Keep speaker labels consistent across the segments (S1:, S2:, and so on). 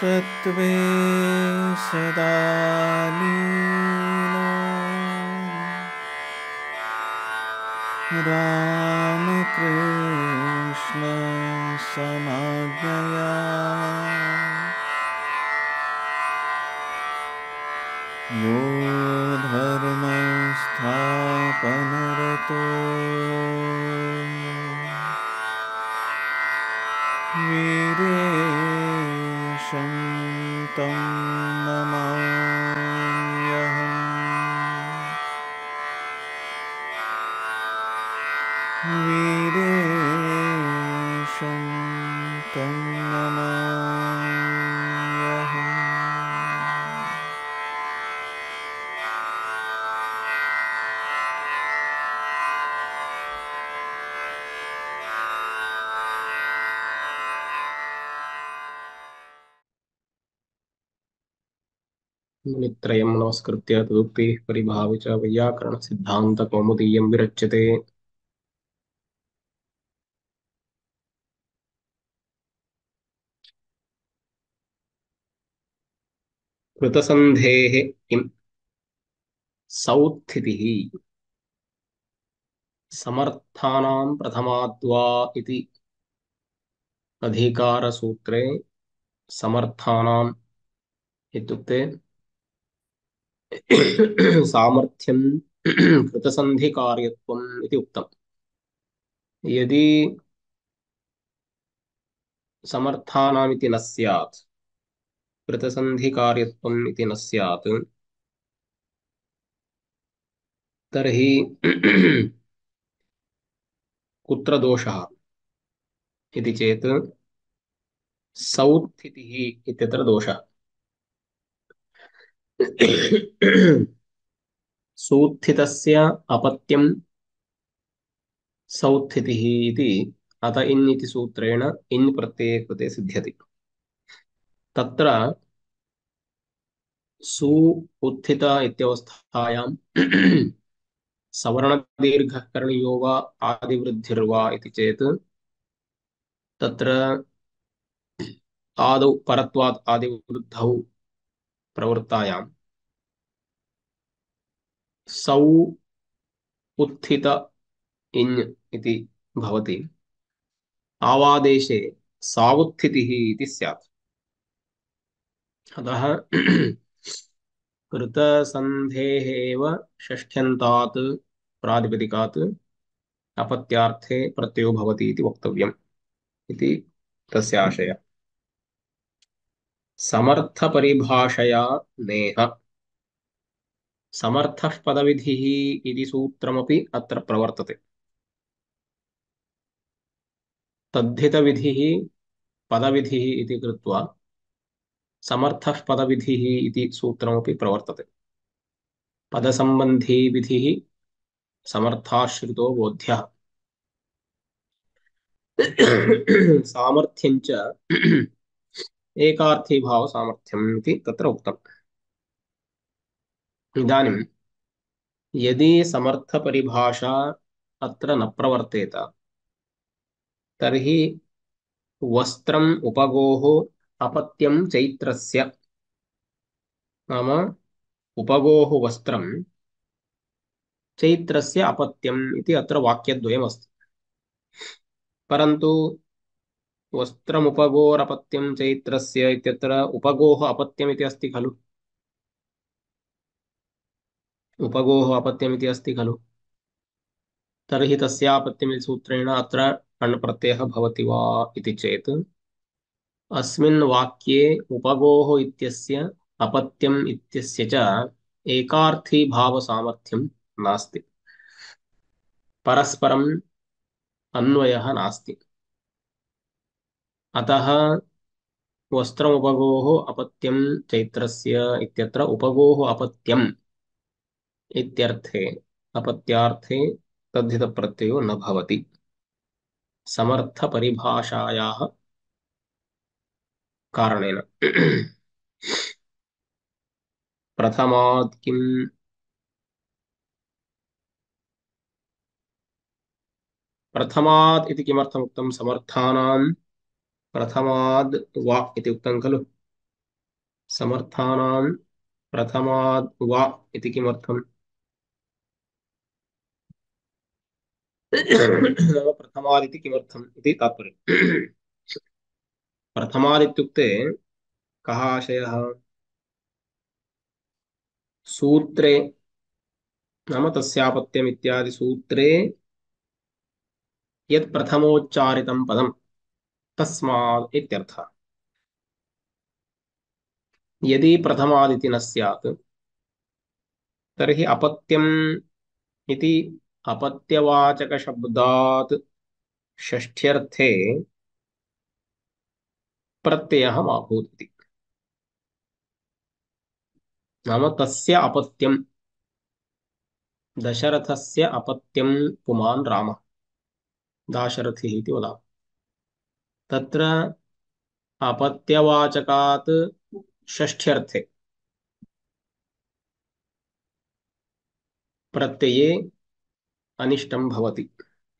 S1: तत्त्वे सदा लीनो रामकृष्ण समाज्ञया यो धर्मस्थापनरतो वीरेशं तं नमाम्यहम् वीरेशं तं नमाम्यहम्।
S2: मुनित्रयं नमस्कृत्य तदुक्तिः परिभाव्य च वैयाकरणसिद्धान्तकौमुदीयं विरच्यते। कृतसन्धेः किं सौत्थितिः समर्थानां प्रथमाद्वा इति अधिकारसूत्रे समर्थानाम् इत्युक्ते सामर्थ्यं कृतसन्धिकार्यत्वम् इति उक्तम्। यदि समर्थानामिति न स्यात्, कृतसन्धिकार्यत्वम् इति न स्यात्, तर्हि कुत्र दोषः इति चेत् सौत्थितिः इत्यत्र दोषः। सूत्थितस्य अपत्यं सौत्थितिः इति अत इन् इति सूत्रेण इन् प्रत्यये कृते सिद्ध्यति। तत्र सु उत्थित इत्यवस्थायां सवर्णदीर्घः करणीयो वा आदिवृद्धिर्वा इति चेत् तत्र आदौ परत्वात् आदिवृद्धौ प्रवृत्तायां सौ उत्थित इन् इति भवति। आवादेशे सावुत्थितिः इति स्यात्। अतः कृतसन्धेः एव षष्ठ्यन्तात् प्रातिपदिकात् अपत्यार्थे प्रत्ययो भवति इति वक्तव्यम् इति तस्य आशयः। समर्थपरिभाषया नेह समर्थः पदविधिः इति सूत्रमपि अत्र प्रवर्तते। तद्धितविधिः पदविधिः इति कृत्वा समर्थः पदविधिः इति सूत्रमपि प्रवर्तते। पदसम्बन्धी विधिः समर्थाश्रितो बोध्यः सामर्थ्यञ्च एकार्थी भाव सामर्थ्यम् इति तत्र उक्तम्। इदानीं यदि समर्थपरिभाषा अत्र न प्रवर्तेत तर्हि वस्त्रम् उपगोः अपत्यं चैत्रस्य, नाम उपगोः वस्त्रं चैत्रस्य अपत्यम् इति अत्र वाक्यद्वयमस्ति। परन्तु वस्त्रमुपगोरपत्यं चैत्रस्य इत्यत्र उपगोः अपत्यमिति अस्ति खलु। उपगोः अपत्यमिति अस्ति खलु। तर्हि तस्यापत्यमिति सूत्रेण अत्र अण् प्रत्ययः भवति वा इति चेत् अस्मिन् वाक्ये उपगोः इत्यस्य अपत्यम् इत्यस्य च एकार्थी भावसामर्थ्यं नास्ति, परस्परम् अन्वयः नास्ति। अतः वस्त्रमुपगोः अपत्यं चैत्रस्य इत्यत्र उपगोः अपत्यम् इत्यर्थे अपत्यार्थे तद्धितप्रत्ययो न भवति समर्थपरिभाषायाः कारणेन। प्रथमात् किम् प्रथमात् इति किमर्थम् उक्तं? समर्थानां प्रथमाद् वा इति उक्तं खलु। समर्थानां प्रथमाद् वा इति किमर्थम्? नाम प्रथमाद् इति किमर्थम् इति तात्पर्यम्। प्रथमाद् इत्युक्ते कः आशयः? सूत्रे नाम तस्यापत्यम् इत्यादि सूत्रे यत् प्रथमोच्चारितं पदं तस्मात् इत्यर्थः। यदि प्रथमादिति न स्यात् तर्हि अपत्यम् इति अपत्यवाचकशब्दात् षष्ठ्यर्थे प्रत्ययः मा भूत् इति। नाम तस्य अपत्यं दशरथस्य अपत्यं पुमान् रामः दाशरथिः इति वदामः। तत्र अपत्यवाचकात् षष्ठ्यर्थे प्रत्यये अनिष्टं भवति।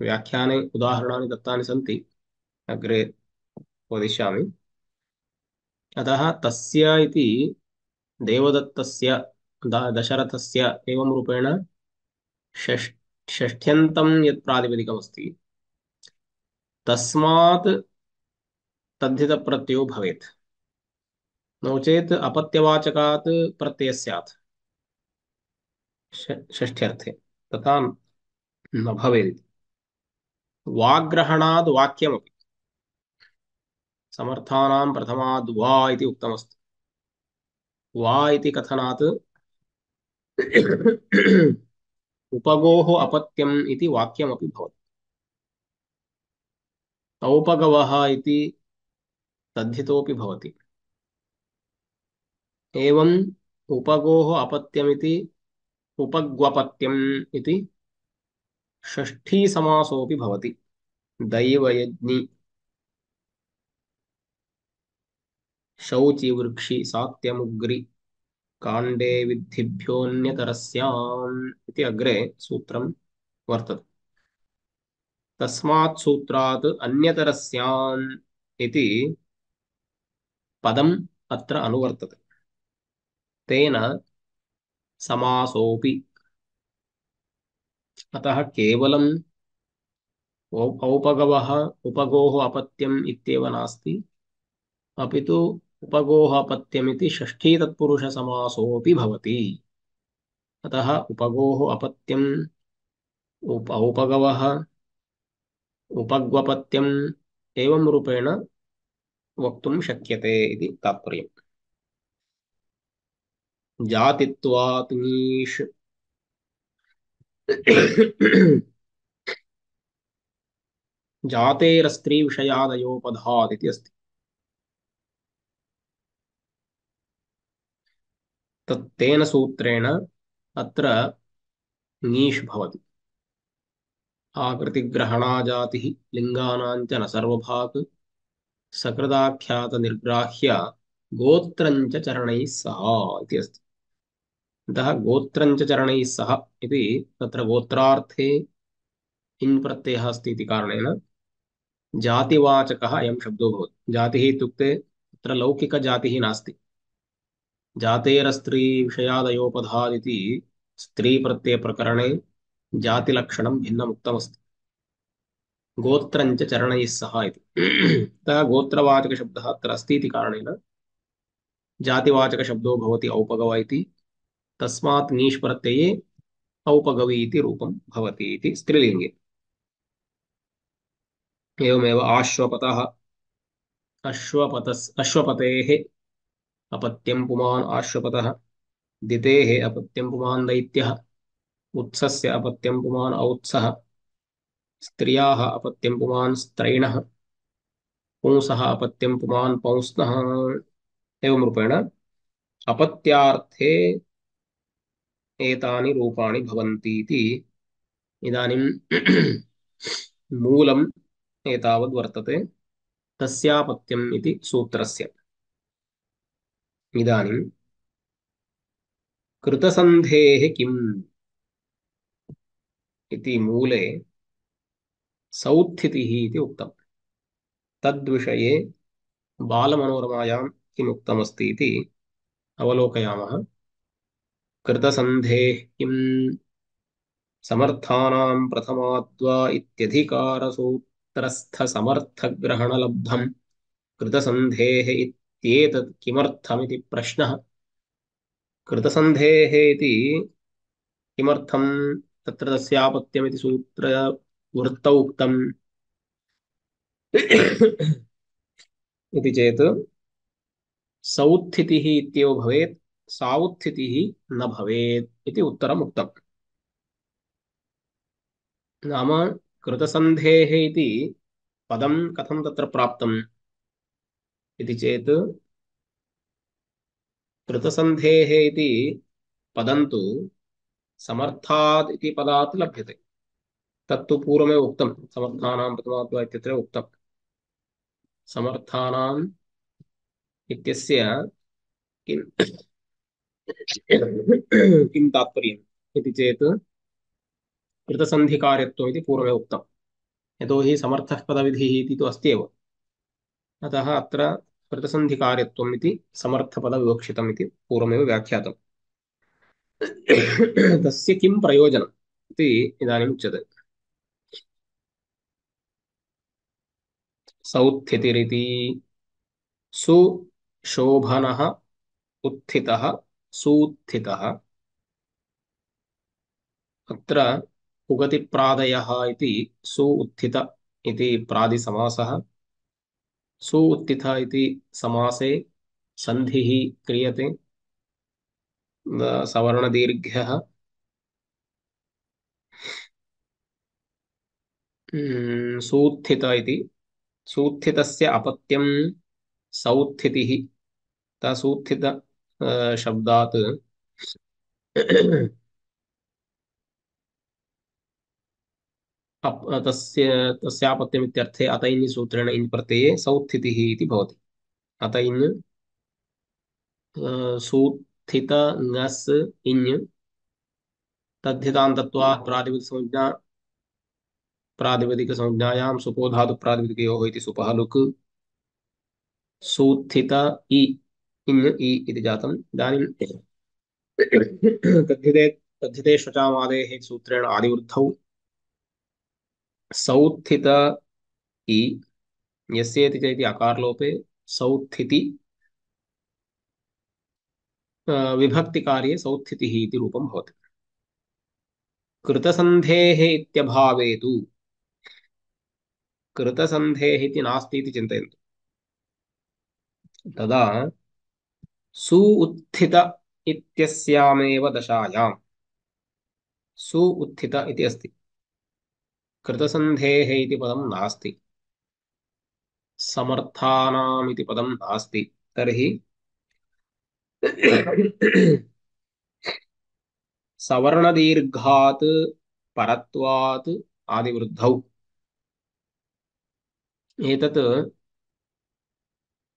S2: व्याख्याने उदाहरणानि दत्तानि सन्ति, अग्रे वदिष्यामि। अतः तस्य इति देवदत्तस्य दशरथस्य एवं रूपेण षष् षष्ठ्यन्तं यत् प्रातिपदिकमस्ति तस्मात् तद्धितप्रत्ययो भवेत्। नो चेत् अपत्यवाचकात् प्रत्ययः स्यात् षष्ठ्यर्थे, तथा न भवेत्। वाग्ग्रहणाद् वाक्यमपि समर्थानां प्रथमाद् वा इति उक्तमस्ति। वा इति कथनात् उपगोः अपत्यम् इति वाक्यमपि भवति। औपगवः इति तद्धितोऽपि भवति। एवम् उपगोः अपत्यमिति उपग्वपत्यम् इति षष्ठी समासोऽपि भवति। दैवयज्ञि शौचि वृक्षि सात्यमुग्रि काण्डे विद्धिभ्योऽन्यतरस्याम् इति अग्रे सूत्रं वर्तते। तस्मात् सूत्रात् अन्यतरस्याम् इति पदम् अत्र अनुवर्तते। तेन समासोऽपि। अतः केवलम् औपगवः उपगोः अपत्यम् इत्येव नास्ति, अपि तु उपगोः अपत्यमिति षष्ठी तत्पुरुषसमासोऽपि भवति। अतः उपगोः अपत्यम् औपगवः उपग्वपत्यम् एवं रूपेण वक्तुं शक्यते इति तात्पर्यम्। जातित्वात् नीष् जातेरस्त्रीविषयादयोपधात् इति अस्ति। तत्तेन सूत्रेण अत्र नीष् भवति। आकृतिग्रहणाजातिः लिङ्गानां च न सर्वभाक् सकृदाख्यातनिर्ग्राह्य गोत्रञ्च चरणैः सह इति अस्ति। अतः गोत्रञ्च चरणैः सह इति तत्र गोत्रार्थे इन् प्रत्ययः अस्ति इति कारणेन जातिवाचकः अयं शब्दो भवति। जातिः इत्युक्ते तत्र लौकिकजातिः नास्ति। जातेरस्त्री विषयादयोपधादिति स्त्रीप्रत्ययप्रकरणे जातिलक्षणं भिन्नमुक्तमस्ति। गोत्रञ्च चरणैः सह इति। अतः गोत्रवाचकशब्दः अत्र अस्ति इति कारणेन जातिवाचकशब्दो भवति औपगव इति। तस्मात् नीष् प्रत्यये औपगवी इति रूपं भवति इति स्त्रीलिङ्गे। एवमेव आश्वपतः अश्वपतेः अपत्यं पुमान् आश्वपतः दितेः अपत्यं पुमान् दैत्यः उत्सस्य अपत्यं पुमान् औत्सः स्त्रियाः अपत्यं पुमान् स्त्रैणः पुंसः अपत्यं पुमान् पौंस्नः। एवं रूपेण अपत्यार्थे एतानि रूपाणि भवन्ति इति इदानीं मूलम् एतावद् वर्तते तस्यापत्यम् इति सूत्रस्य। इदानीं कृतसन्धेः किम् इति मूले सौत्थितिः इति उक्तम्। तद्विषये बालमनोरमायां किम् उक्तमस्ति इति अवलोकयामः। कृतसन्धेः किम् समर्थानां प्रथमाद्वा इत्यधिकारसूत्रस्थसमर्थग्रहणलब्धम् कृतसन्धेः इत्येतत् किमर्थमिति प्रश्नः। कृतसन्धेः इति किमर्थं तत्र तस्यापत्यमिति सूत्रवृत्तौ उक्तम् इति चेत् सौत्थितिः इत्येव भवेत्, सावुत्थितिः न भवेत् इति उत्तरम् उक्तम्। नाम कृतसन्धेः इति पदं कथं तत्र प्राप्तम् इति चेत् कृतसन्धेः इति पदं तु समर्थात् इति पदात् लभ्यते। तत्तु पूर्वमेव उक्तं, समर्थानां प्रथमाद्वा इत्यत्र उक्तं। समर्थानाम् इत्यस्य किं किं तात्पर्यम् इति चेत् कृतसन्धिकार्यत्वम् इति पूर्वमेव उक्तम्। यतोहि समर्थः पदविधिः इति तु अस्ति एव, अतः अत्र कृतसन्धिकार्यत्वम् इति समर्थपदविवक्षितम् इति पूर्वमेव व्याख्यातम्। तस्य किं प्रयोजनम् इति इदानीम् उच्यते। सौत्थितिरिति सुशोभनः उत्थितः सूत्थितः। अत्र उगतिप्रादयः इति सु उत्थित इति प्रादिसमासः। सु उत्थित इति समासे सन्धिः क्रियते, सवर्णदीर्घ्यः। सूत्थित इति सूत्थितस्य अपत्यं सौत्थितिः। सूत्थित शब्दात् तस्य तस्यापत्यमित्यर्थे अत इन् सूत्रेण इन् प्रत्यये सौत्थितिः इति भवति। अत इन् सूत्थित ङस् इन् तद्धितान्तत्वात् प्रातिपदिकसंज्ञा प्रातिपदिकसंज्ञायां सुपो धातु प्रातिपदिकयोः इति सुपः लुक् सूत्थित इ इन् इ इति जातम्। इदानीं तद्धिते तद्धिते श्वचामादेः सूत्रेण आदिवृद्धौ सौत्थित इ यस्येति चेति अकारलोपे सौत्थिति विभक्तिकार्ये सौत्थितिः इति रूपं भवति। कृतसन्धेः इत्यभावे तु कृतसन्धेः इति नास्ति इति चिन्तयन्तु। तदा सु उत्थित इत्यस्यामेव दशायां सु उत्थित इति अस्ति, कृतसन्धेः इति पदं नास्ति, समर्थानाम् इति पदं नास्ति। तर्हि सवर्णदीर्घात् परत्वात् आदिवृद्धौ एतत्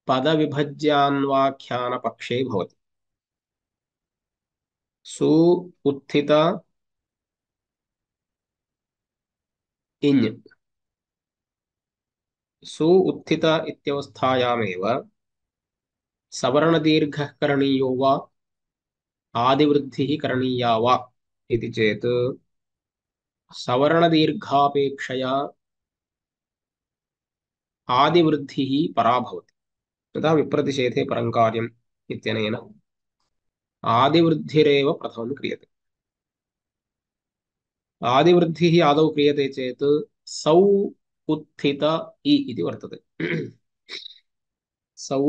S2: पदविभज्यान्वाख्यानपक्षे भवति। सु उत्थित इञ् सु उत्थित इत्यवस्थायामेव सवर्णदीर्घः करणीयो वा आदिवृद्धिः करणीया वा इति चेत् सवर्णदीर्घापेक्षया आदिवृद्धिः परा भवति। तथा विप्रतिषेधे परं कार्यम् इत्यनेन आदिवृद्धिरेव प्रथमं क्रियते। आदिवृद्धिः आदौ क्रियते चेत् सौ उत्थित इ इति वर्तते। सौ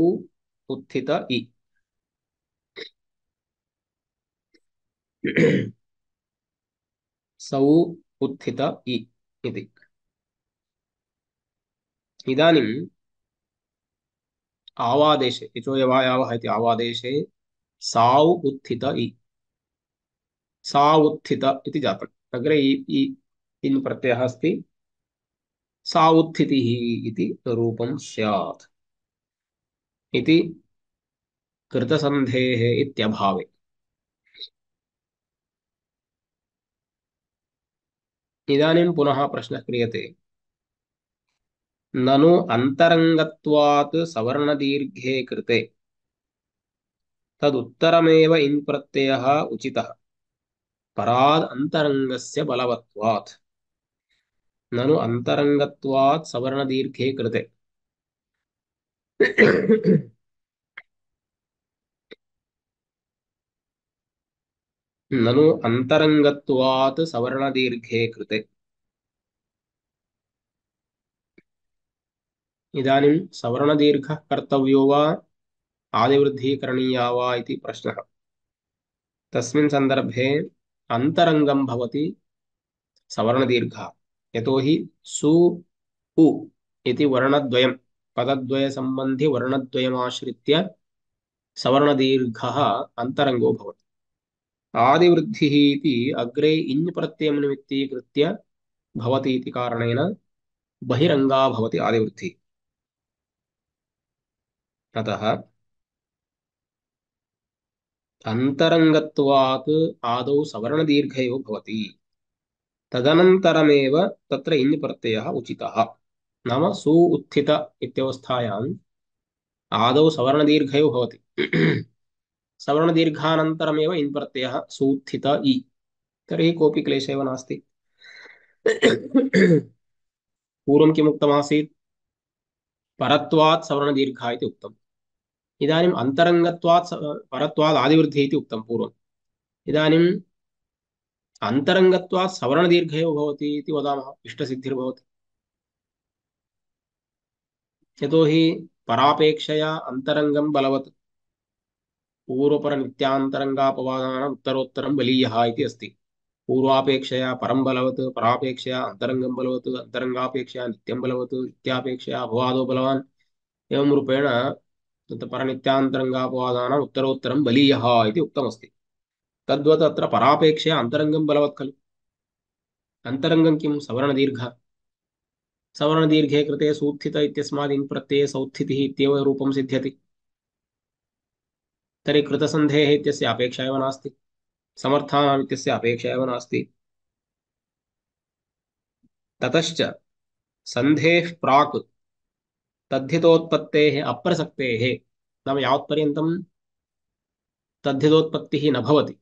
S2: उत्थित इ सौ उत्थित इ इति। इदानीम् आवादेशे इचोयवायावः इति आवादेशे साउ उत्थित इ सा उत्थित इति जातम्। अग्रे इन् प्रत्ययः अस्ति, सा उत्थितिः इति रूपं स्यात् इति कृतसन्धेः इत्यभावे। इदानीं पुनः प्रश्नः क्रियते, ननु अन्तरङ्गत्वात् सवर्णदीर्घे कृते तदुत्तरमेव इन् प्रत्ययः उचितः पराद् अन्तरङ्गस्य बलवत्वात् ननु अन्तरङ्गत्वात् सवर्णदीर्घे कृते ननु अन्तरङ्गत्वात् सवर्णदीर्घे कृते इदानीं सवर्णदीर्घः कर्तव्यो वा आदिवृद्धिः करणीया वा इति प्रश्नः तस्मिन् सन्दर्भे अन्तरङ्गं भवति सवर्णदीर्घः यतोहि सु उ इति वर्णद्वयं पदद्वयसम्बन्धि वर्णद्वयमाश्रित्य सवर्णदीर्घः अन्तरङ्गो भवति आदिवृद्धिः इति अग्रे इञ् प्रत्ययं निमित्तीकृत्य भवति इति कारणेन बहिरङ्गा भवति आदिवृद्धिः अतः अन्तरङ्गत्वात् आदौ सवर्णदीर्घयो भवति तदनन्तरमेव तत्र इञ् प्रत्ययः उचितः नाम सु उत्थित इत्यवस्थायाम् आदौ सवर्णदीर्घयो भवति सवर्णदीर्घानन्तरमेव इन् प्रत्ययः सूत्थित इ तर्हि कोऽपि क्लेशः एव नास्ति पूर्वं किमुक्तमासीत् परत्वात् सवर्णदीर्घः इति उक्तम् इदानीम् अन्तरङ्गत्वात् परत्वात् आदिवृद्धिः इति उक्तं पूर्वम् इदानीम् अन्तरङ्गत्वात् सवर्णदीर्घयो भवति इति वदामः इष्टसिद्धिर्भवति यतोहि परापेक्षया अन्तरङ्गं बलवत् पूर्वपरनित्यान्तरङ्गापवादानाम् उत्तरोत्तरं बलीयः इति अस्ति पूर्वापेक्षया परं बलवत् परापेक्षया अन्तरङ्गं बलवत् अन्तरङ्गापेक्षया नित्यं बलवत् नित्यापेक्षया अपवादो बलवान् एवं रूपेण तत् परनित्यान्तरङ्गापवादानाम् उत्तरोत्तरं बलीयः इति उक्तमस्ति तद्वत् अत्र परापेक्षया अन्तरङ्गं बलवत् खलु अन्तरङ्गं किं सवर्णदीर्घ सवर्णदीर्घे कृते सूत्थित इत्यस्मात् इन् प्रत्यये सौत्थितिः इत्येव रूपं सिद्ध्यति तर्हि कृतसन्धेः इत्यस्य अपेक्षा एव नास्ति समर्थानाम् इत्यस्य अपेक्षा एव नास्ति ततश्च सन्धेः प्राक् तद्धितोत्पत्तेः अप्रसक्तेः नाम यावत्पर्यन्तं तद्धितोत्पत्तिः न भवति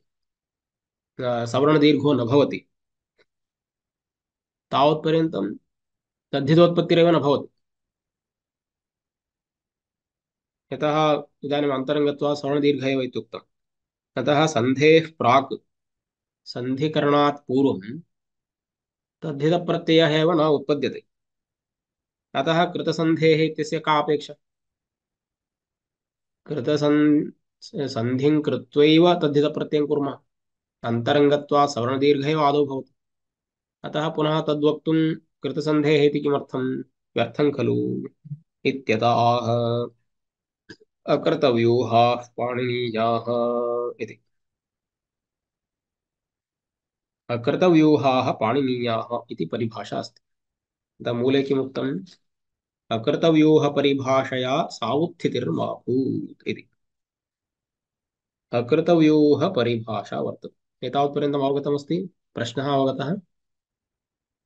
S2: सवर्णदीर्घो न भवति तावत्पर्यन्तं तद्धितोत्पत्तिरेव न भवति यतः इदानीम् अन्तरङ्गत्वात् सवर्णदीर्घ एव इत्युक्तम् अतः सन्धेः प्राक् सन्धिकरणात् पूर्वं तद्धितप्रत्ययः एव न उत्पद्यते अतः कृतसन्धेः इत्यस्य का अपेक्षा सन्धिं कृत्वैव तद्धितप्रत्ययं कुर्मः अन्तरङ्गत्वात् सवर्णदीर्घ एव आदौ भवति अतः पुनः तद्वक्तुं कृतसन्धेः इति किमर्थं व्यर्थं खलु इत्यतः अकृतव्यूहाः पाणिनीयाः इति अकृतव्यूहाः पाणिनीयाः इति परिभाषा अस्ति मूले किमुक्तम् अकृतव्यूहपरिभाषया सावुत्थितिर्माभूत् इति अकृतव्यूहपरिभाषा वर्तते एतावत्पर्यन्तम् अवगतमस्ति प्रश्नः अवगतः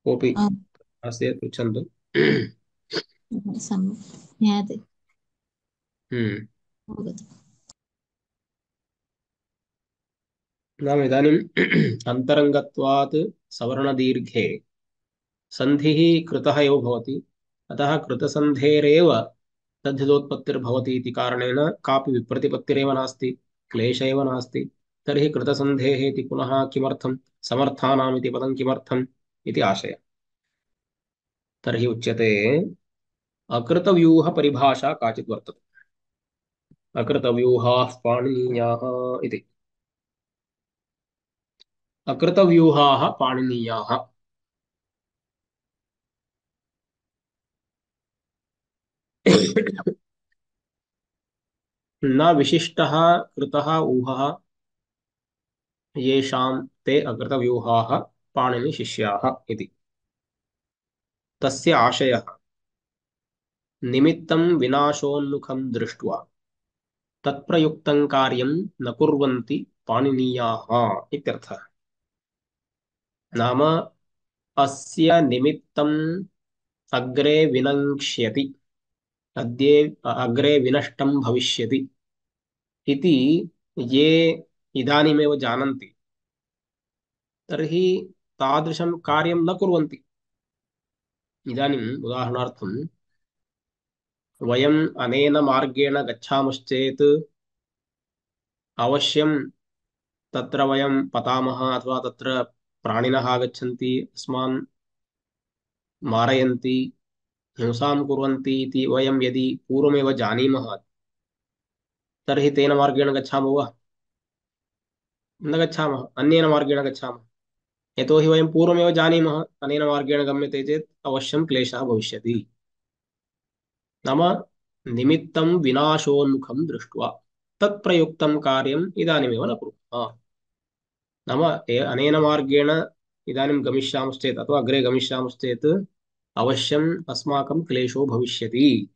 S2: कोऽपि
S3: आम्,
S2: अस्य पृच्छन्तु
S3: ज्ञायते
S2: हम्म
S3: अवगतम्।
S2: नाम इदानीम् अन्तरङ्गत्वात् सवर्णदीर्घे सन्धिः कृतः एव भवति अतः कृतसन्धेरेव तद्धितोत्पत्तिर्भवति इति कारणेन कापि विप्रतिपत्तिरेव नास्ति क्लेश एव नास्ति तर्हि कृतसन्धेः इति पुनः किमर्थं समर्थानाम् इति पदं किमर्थम् इति आशयः तर्हि उच्यते अकृतव्यूहपरिभाषा काचित् वर्तते अकृतव्यूहाः पाणिनीयाः इति अकृतव्यूहाः पाणिनीयाः न विशिष्टः कृतः ऊहः येषां ते अकृतव्यूहाः पाणिनिशिष्याः इति तस्य आशयः निमित्तं विनाशोन्मुखं दृष्ट्वा तत्प्रयुक्तं कार्यं न कुर्वन्ति पाणिनीयाः इत्यर्थः नाम अस्य निमित्तम् अग्रे विनङ्क्ष्यति अग्रे विनष्टं भविष्यति इति ये इदानीमेव जानन्ति तर्हि तादृशं कार्यं न कुर्वन्ति। इदानीम् उदाहरणार्थं वयम् अनेन मार्गेण गच्छामश्चेत् अवश्यं तत्र वयं पतामः, अथवा तत्र प्राणिनः आगच्छन्ति, अस्मान् मारयन्ति, हिंसां कुर्वन्ति इति वयं यदि पूर्वमेव जानीमः तर्हि तेन मार्गेण गच्छामः वा? न गच्छामः, अन्येन मार्गेण गच्छामः। यतोहि वयं पूर्वमेव जानीमः अनेन मार्गेण गम्यते चेत् अवश्यं क्लेशः भविष्यति। नाम निमित्तं विनाशोन्मुखं दृष्ट्वा तत्प्रयुक्तं कार्यम् इदानीमेव न कुर्मः। नाम अनेन मार्गेण इदानीं गमिष्यामश्चेत् अथवा अग्रे गमिष्यामश्चेत् अवश्यम् अस्माकं क्लेशो भविष्यति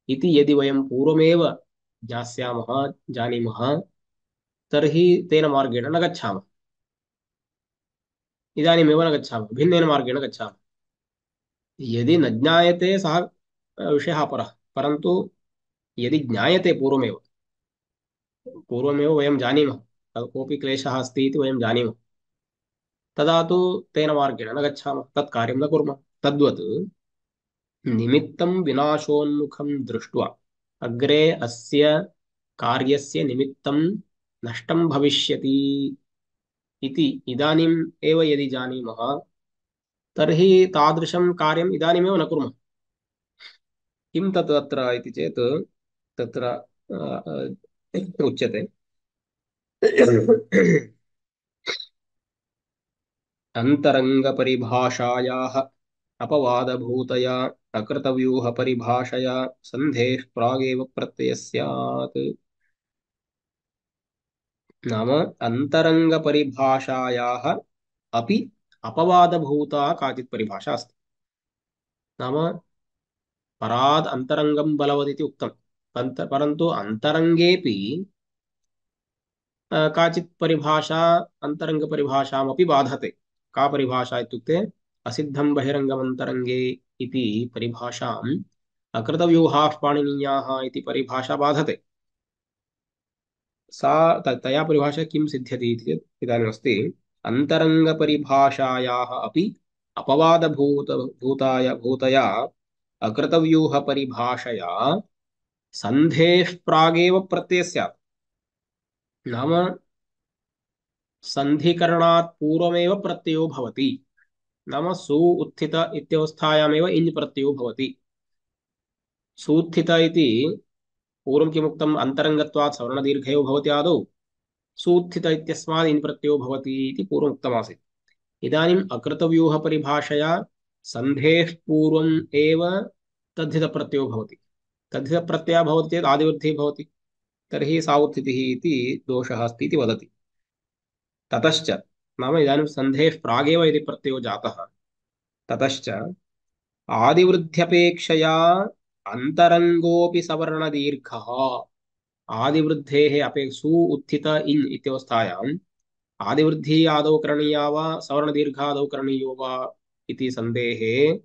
S2: इति यदि वयं पूर्वमेव ज्ञास्यामः, जानीमः, तर्हि तेन मार्गेण न गच्छामः, इदानीमेव न गच्छामः, भिन्नेन मार्गेण गच्छामः। यदि न ज्ञायते सः विषयः अपरः, परन्तु यदि ज्ञायते पूर्वमेव वयं जानीमः कोऽपि क्लेशः अस्ति इति वयं जानीमः, तदा तु तेन मार्गेण न गच्छामः, तत् कार्यं न कुर्मः। तद्वत् निमित्तं विनाशोन्मुखं दृष्ट्वा अग्रे अस्य कार्यस्य निमित्तं नष्टं भविष्यति इति इदानीम् एव यदि जानीमः तर्हि तादृशं कार्यम् इदानीमेव न कुर्मः। किं तत् अत्र इति चेत् तत्र उच्यते अन्तरङ्गपरिभाषायाः अपवादभूतया अकृतव्यूहपरिभाषया सन्धेः प्रागेव प्रत्ययः स्यात्। नाम अन्तरङ्गपरिभाषायाः अपि अपवादभूता काचित् परिभाषा अस्ति। नाम पराद् अन्तरङ्गं बलवदिति उक्तम्, परन्तु अन्तरङ्गेऽपि काचित् परिभाषा अन्तरङ्गपरिभाषामपि बाधते। का परिभाषा इत्युक्ते असिद्धं बहिरङ्गमन्तरङ्गे इति परिभाषाम् अकृतव्यूहाः पाणिनीयाः इति परिभाषा बाधते। सा तया परिभाषा किं सिद्ध्यति इति चेत् इदानीमस्ति अन्तरङ्गपरिभाषायाः अपि भूतया अकृतव्यूहपरिभाषया सन्धेः प्रागेव प्रत्ययः स्यात्। नाम सन्धिकरणात् पूर्वमेव प्रत्ययो भवति। नाम सु उत्थित इत्यवस्थायामेव इञ् प्रत्ययो भवति। सूत्थित इति पूर्वं किमुक्तम्, अन्तरङ्गत्वात् सवर्णदीर्घयो भवति आदौ, सूत्थित इत्यस्मात् इन् प्रत्ययो भवति इति पूर्वम् उक्तमासीत्। इदानीम् अकृतव्यूहपरिभाषया सन्धेः पूर्वम् एव तद्धितप्रत्ययो भवति। तद्धितप्रत्ययः भवति चेत् आदिवृद्धिः भवति, तर्हि सावुत्थितिः इति दोषः अस्ति इति वदति। ततश्च नाम इदानीं सन्धेः प्रागेव यदि प्रत्ययो जातः, ततश्च आदिवृद्ध्यपेक्षया अन्तरङ्गोऽपि सवर्णदीर्घः। आदिवृद्धेः सु उत्थित इन् इत्यवस्थायाम् आदिवृद्धिः आदौ करणीया वा सवर्णदीर्घादौ करणीयो वा इति सन्देहे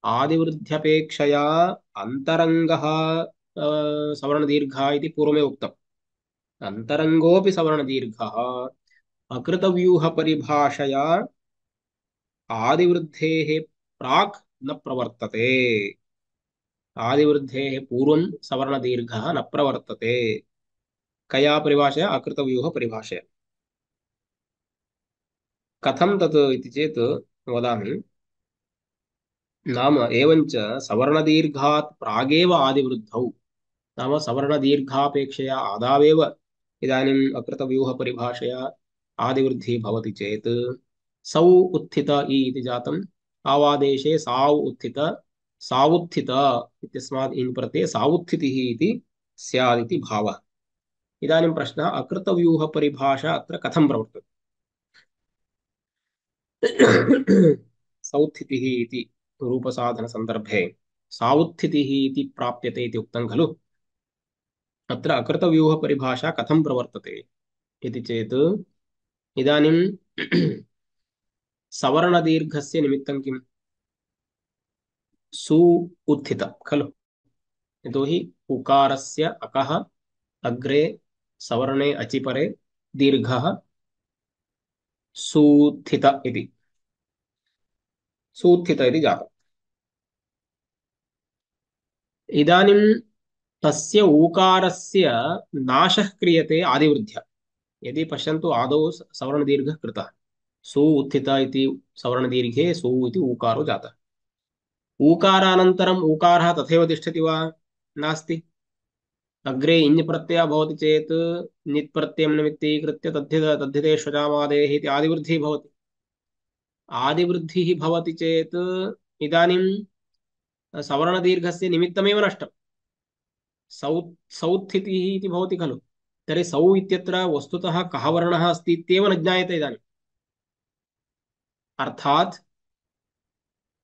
S2: आदिवृद्ध्यपेक्षया अन्तरङ्गः सवर्णदीर्घः इति पूर्वमेव उक्तम्। अन्तरङ्गोऽपि सवर्णदीर्घः अकृतव्यूहपरिभाषया आदिवृद्धेः प्राक् न प्रवर्तते। आदिवृद्धेः पूर्वं सवर्णदीर्घः न प्रवर्तते। कया परिभाषया? अकृतव्यूहपरिभाषया। कथं तत् इति चेत् वदामि। नाम एवञ्च सवर्णदीर्घात् प्रागेव आदिवृद्धौ, नाम सवर्णदीर्घापेक्षया आदावेव इदानीम् अकृतव्यूहपरिभाषया आदिवृद्धिः भवति चेत् सौ उत्थित इ इति जातम्, आवादेशे साव् उत्थित सावुत्थित इत्यस्मात् इन् प्रत्यये सावुत्थितिः इति स्यात् इति भावः। इदानीं प्रश्नः, अकृतव्यूहपरिभाषा अत्र कथं प्रवर्तते? सौत्थितिः इति रूपसाधनसन्दर्भे सावुत्थितिः इति प्राप्यते इति उक्तं खलु। अत्र अकृतव्यूहपरिभाषा कथं प्रवर्तते इति चेत् इदानीं सवर्णदीर्घस्य निमित्तं किम्? सु उत्थित खलु। यतोहि उकारस्य अकः अग्रे सवर्णे अचिपरे दीर्घः सूत्थित इति सूत्थित इति जातम्। इदानीं तस्य ऊकारस्य नाशः क्रियते आदिवृद्ध्या। यदि पश्यन्तु आदौ सवर्णदीर्घः कृतः, सु उत्थित इति सवर्णदीर्घे सु इति ऊकारो जातः। ऊकारानन्तरम् ऊकारः तथैव तिष्ठति वा? नास्ति। अग्रे इञ् प्रत्ययः भवति चेत् नित् प्रत्ययं निमित्तीकृत्य तद्धिते श्वजामादेः इति आदिवृद्धिः भवति। आदिवृद्धिः भवति चेत् इदानीं सवर्णदीर्घस्य निमित्तमेव नष्टम्। सौ सौत्थितिः इति भवति खलु। तर्हि सौ इत्यत्र वस्तुतः कः वर्णः अस्ति इत्येव न ज्ञायते इदानीम्। अर्थात्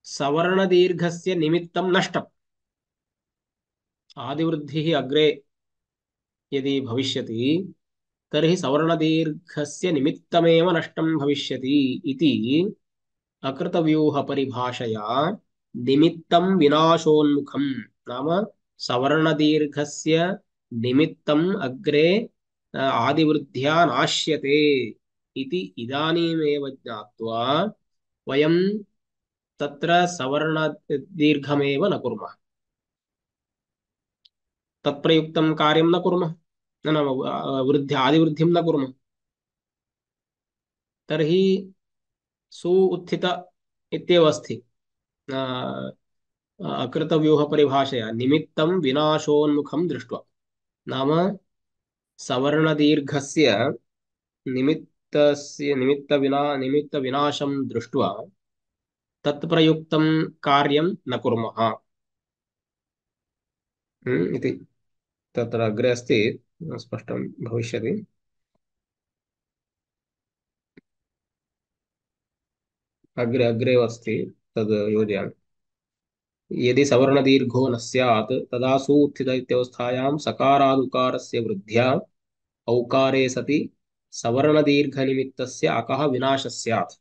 S2: सवर्णदीर्घस्य निमित्तं नष्टम्। आदिवृद्धिः अग्रे यदि भविष्यति तर्हि सवर्णदीर्घस्य निमित्तमेव नष्टं भविष्यति इति अकृतव्यूहपरिभाषया निमित्तं विनाशोन्मुखं, नाम सवर्णदीर्घस्य निमित्तम् अग्रे आदिवृद्ध्या नाश्यते इति इदानीमेव ज्ञात्वा वयं तत्र सवर्णदीर्घमेव न कुर्मः, तत्प्रयुक्तं कार्यं न कुर्मः, न न वृद्धि आदिवृद्धिं न कुर्मः। तर्हि सु उत्थित इत्येव अस्ति अकृतव्यूहपरिभाषया निमित्तं विनाशोन्मुखं दृष्ट्वा, नाम सवर्णदीर्घस्य निमित्तविनाशं दृष्ट्वा तत्प्रयुक्तं कार्यं न कुर्मः इति तत्र अग्रे अस्ति, स्पष्टं भविष्यति। अग्रे अग्रे अस्ति, तद् योजयामि। यदि सवर्णदीर्घो न स्यात् तदा सूत्थित इत्यवस्थायां सकारादुकारस्य वृद्ध्या औकारे सति सवर्णदीर्घनिमित्तस्य अकः विनाशः स्यात्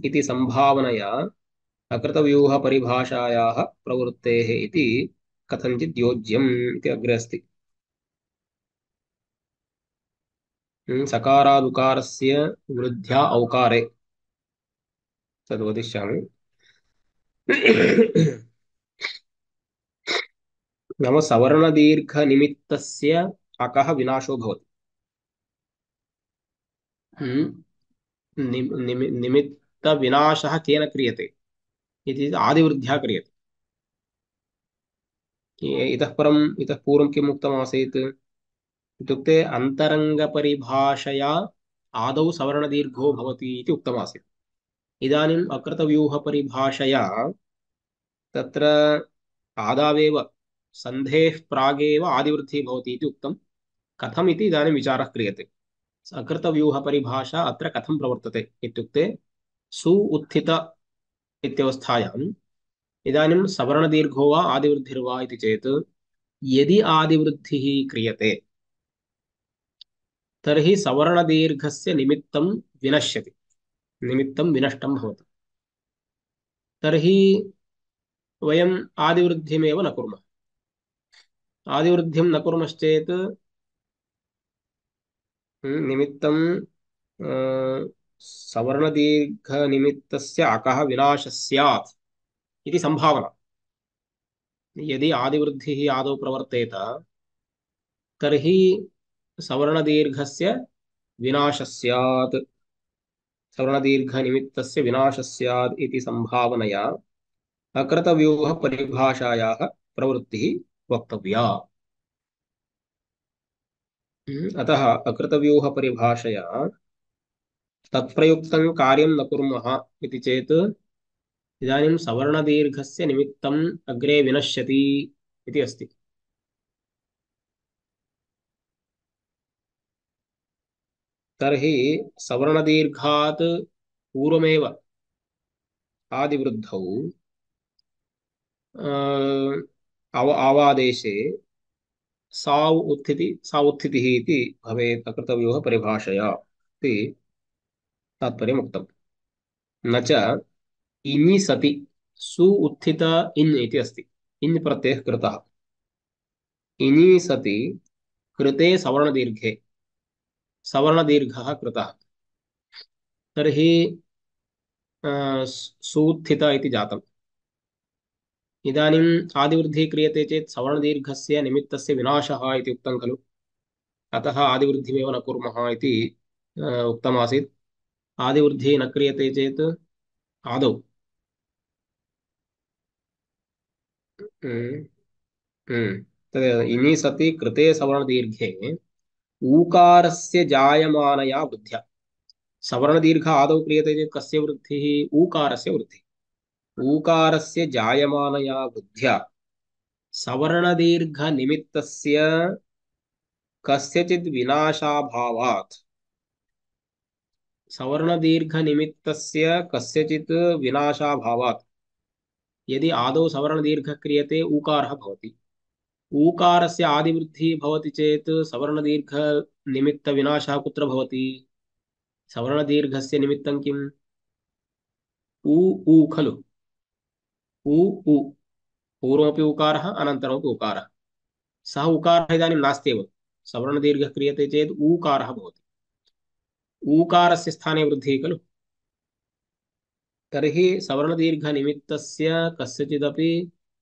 S2: इति संभावनया अकृतव्यूहपरिभाषायाः प्रवृत्तेः इति कथञ्चित् योज्यम् इति अग्रे अस्ति। सकारादुकारस्य वृद्ध्या औकारे तद् वदिष्यामि। नाम सवर्णदीर्घनिमित्तस्य अकः विनाशो भवति। निमित्तविनाशः केन क्रियते इति आदिवृद्ध्या क्रियते। इतः पूर्वं किम् उक्तमासीत् इत्युक्ते अन्तरङ्गपरिभाषया आदौ सवर्णदीर्घो भवति इति उक्तमासीत्। इदानीम् अकृतव्यूहपरिभाषया तत्र आदावेव सन्धेः प्रागेव आदिवृद्धिः भवति इति उक्तं। कथम् इति इदानीं विचारः क्रियते। अकृतव्यूहपरिभाषा अत्र कथं प्रवर्तते इत्युक्ते सु उत्थित इत्यवस्थायाम् इदानीं सवर्णदीर्घो वा आदिवृद्धिर्वा इति चेत् यदि आदिवृद्धिः क्रियते तर्हि सवर्णदीर्घस्य निमित्तं विनश्यति, निमित्तं विनष्टं भवति। तर्हि वयम् आदिवृद्धिमेव न कुर्मः। आदिवृद्धिं न कुर्मश्चेत् निमित्तं सवर्णदीर्घनिमित्तस्य अकः विनाशः स्यात् इति संभावना। यदि आदिवृद्धिः आदौ प्रवर्तेत तर्हि सवर्णदीर्घस्य विनाशः स्यात्, सवर्णदीर्घनिमित्तस्य विनाशः स्यात् इति संभावनया अकृतव्यूहपरिभाषायाः प्रवृत्तिः वक्तव्या। अतः अकृतव्यूहपरिभाषया तत्प्रयुक्तं कार्यं न कुर्मः इति चेत् इदानीं सवर्णदीर्घस्य निमित्तम् अग्रे विनश्यति इति अस्ति। तर्हि सवर्णदीर्घात् पूर्वमेव आदिवृद्धौ आवादेशे सा उत्थितिः इति भवेत् अकृतव्यूहपरिभाषया इति तात्पर्यमुक्तम्। न च इनि सति सु उत्थित इन् इति अस्ति। इन् प्रत्ययः कृतः। इनि सति कृते सवर्णदीर्घे सवर्णदीर्घः कृतः तर्हि सूत्थित इति जातम्। इदानीम् आदिवृद्धिः क्रियते चेत् सवर्णदीर्घस्य निमित्तस्य विनाशः इति उक्तं खलु। अतः आदिवृद्धिमेव न कुर्मः इति उक्तमासीत्। आदिवृद्धिः न क्रियते चेत् आदौ हम्म, तद् इनि सति कृते सवर्णदीर्घे ऊकारस्य जायमानया वृद्ध्या सवर्णदीर्घ आदौ क्रियते चेत् कस्य वृद्धिः ऊकारस्य वृद्धिः ऊकारस्य जायमानया वृद्ध्या सवर्णदीर्घनिमित्तस्य कस्यचित् विनाशाभावात् सवर्णदीर्घनिमित्तस्य कस्यचित् विनाशाभावात् यदि आदौ सवर्णदीर्घः क्रियते ऊकारः भवति ऊकारस्य आदिवृद्धिः भवति चेत् सवर्णदीर्घनिमित्तविनाशः कुत्र भवति सवर्णदीर्घस्य निमित्तं किम् ऊ ऊ खलु ऊ ऊ पूर्वमपि उकारः अनन्तरमपि उकारः सः उकारः इदानीं नास्त्येव सवर्णदीर्घः क्रियते चेत् ऊकारः भवति ऊकारस्य स्थाने वृद्धिः खलु तर्हि सवर्णदीर्घनिमित्तस्य कस्यचिदपि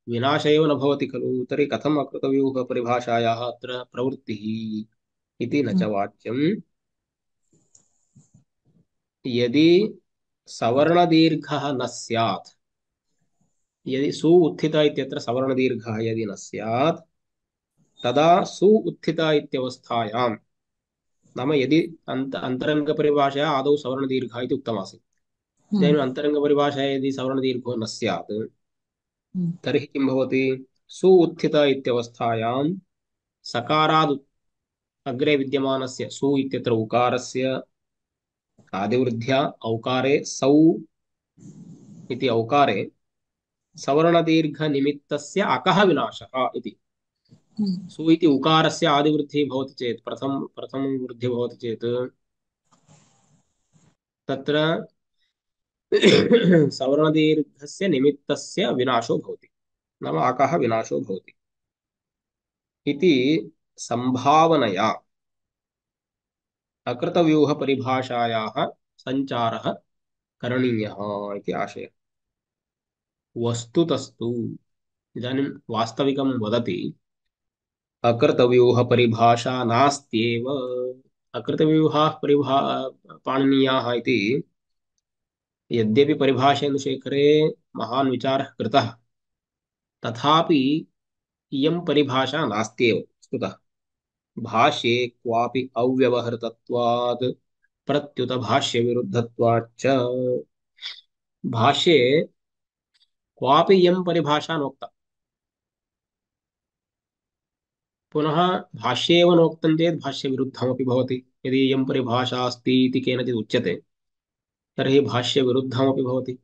S2: विनाश एव न भवति खलु तर्हि कथम् अकृतव्यूहपरिभाषायाः अत्र प्रवृत्तिः इति न च वाच्यम् यदि सवर्णदीर्घः न स्यात् यदि सु उत्थित इत्यत्र सवर्णदीर्घः यदि न स्यात् तदा सु उत्थित इत्यवस्थायां नाम यदि अन्तरङ्गपरिभाषया आदौ सवर्णदीर्घः इति उक्तमासीत् इदानीम् अन्तरङ्गपरिभाषया यदि सवर्णदीर्घो न स्यात् तर्हि किं भवति सु उत्थित इत्यवस्थायां सकाराद् अग्रे विद्यमानस्य सु इत्यत्र उकारस्य आदिवृद्ध्या औकारे सौ इति औकारे सवर्णदीर्घनिमित्तस्य अकः विनाशः इति सु इति उकारस्य आदिवृद्धिः भवति चेत् प्रथम वृद्धिः भवति चेत् तत्र सवर्णदीर्घस्य निमित्तस्य विनाशो भवति नाम अकः विनाशो भवति इति संभावनया अकृतव्यूहपरिभाषायाः सञ्चारः करणीयः इति आशयः वस्तुतस्तु इदानीं वास्तविकं वदति अकृतव्यूहपरिभाषा नास्त्येव अकृतव्यूहाः पाणिनीयाः इति यद्यपि परिभाषेन्दुशेखरे महान् विचारः कृतः तथापि इयं परिभाषा नास्त्येव वस्तुतः भाष्ये क्वापि अव्यवहृतत्वात् प्रत्युत भाष्यविरुद्धत्वाच्च भाष्ये क्वापि इयं परिभाषा नोक्ता पुनः भाष्ये एव नोक्तं चेत् भाष्यविरुद्धमपि भवति यदि इयं परिभाषा अस्ति इति केनचित् उच्यते तर्हि भाष्यविरुद्धमपि भवति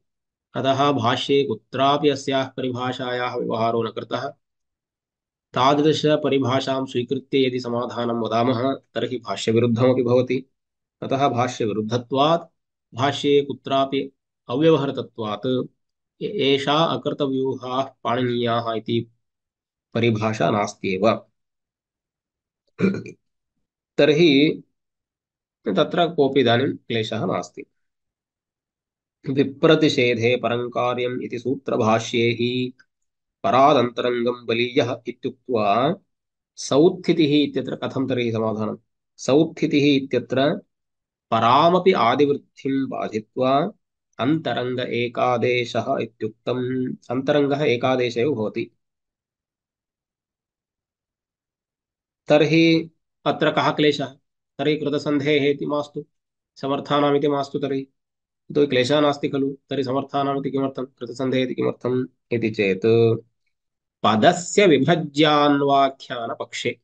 S2: अतः भाष्ये कुत्रापि अस्याः परिभाषायाः व्यवहारो न कृतः तादृशपरिभाषां स्वीकृत्य यदि समाधानं वदामः तर्हि भाष्यविरुद्धमपि भवति अतः भाष्यविरुद्धत्वात् भाष्ये कुत्रापि अव्यवहृतत्वात् एषा अकृतव्यूहाः पाणिनीयाः इति परिभाषा नास्त्येव तर्हि तत्र कोऽपि इदानीं क्लेशः नास्ति विप्रतिषेधे परङ्कार्यम् इति सूत्रभाष्ये हि परादन्तरङ्गं बलीयः इत्युक्त्वा सौत्थितिः इत्यत्र कथं तर्हि समाधानं सौत्थितिः इत्यत्र परामपि आदिवृद्धिं बाधित्वा अन्तरङ्ग एकादेशः इत्युक्तम् अन्तरङ्गः एकादेश एव भवति तर्हि अत्र कः क्लेशः तर्हि कृतसन्धेः इति मास्तु समर्थानामिति मास्तु तर्हि तो क्लेशः नास्ति खलु तर्हि समर्थानामिति किमर्थं कृतसन्धेः इति किमर्थम् इति चेत् पदस्य विभज्यान्वाख्यानपक्षे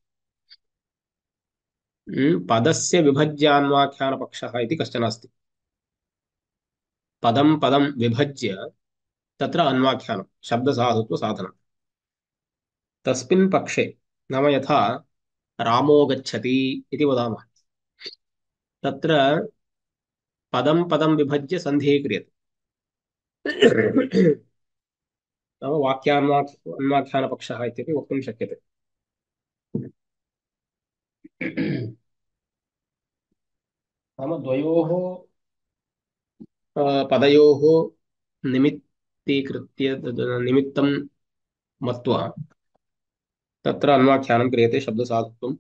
S2: पदस्य विभज्यान्वाख्यानपक्षः इति कश्चन अस्ति पदं पदं विभज्य तत्र अन्वाख्यानं शब्दसाधुत्वसाधनं तस्मिन् पक्षे नाम यथा रामो गच्छति इति वदामः तत्र पदं पदं विभज्य सन्धिः क्रियते नाम वाक्यान्वाख्यानपक्षः इत्यपि वक्तुं शक्यते नाम द्वयोः पदयोः निमित्तीकृत्य निमित्तं मत्वा तत्र अन्वाख्यानं क्रियते शब्दसाधुत्वम्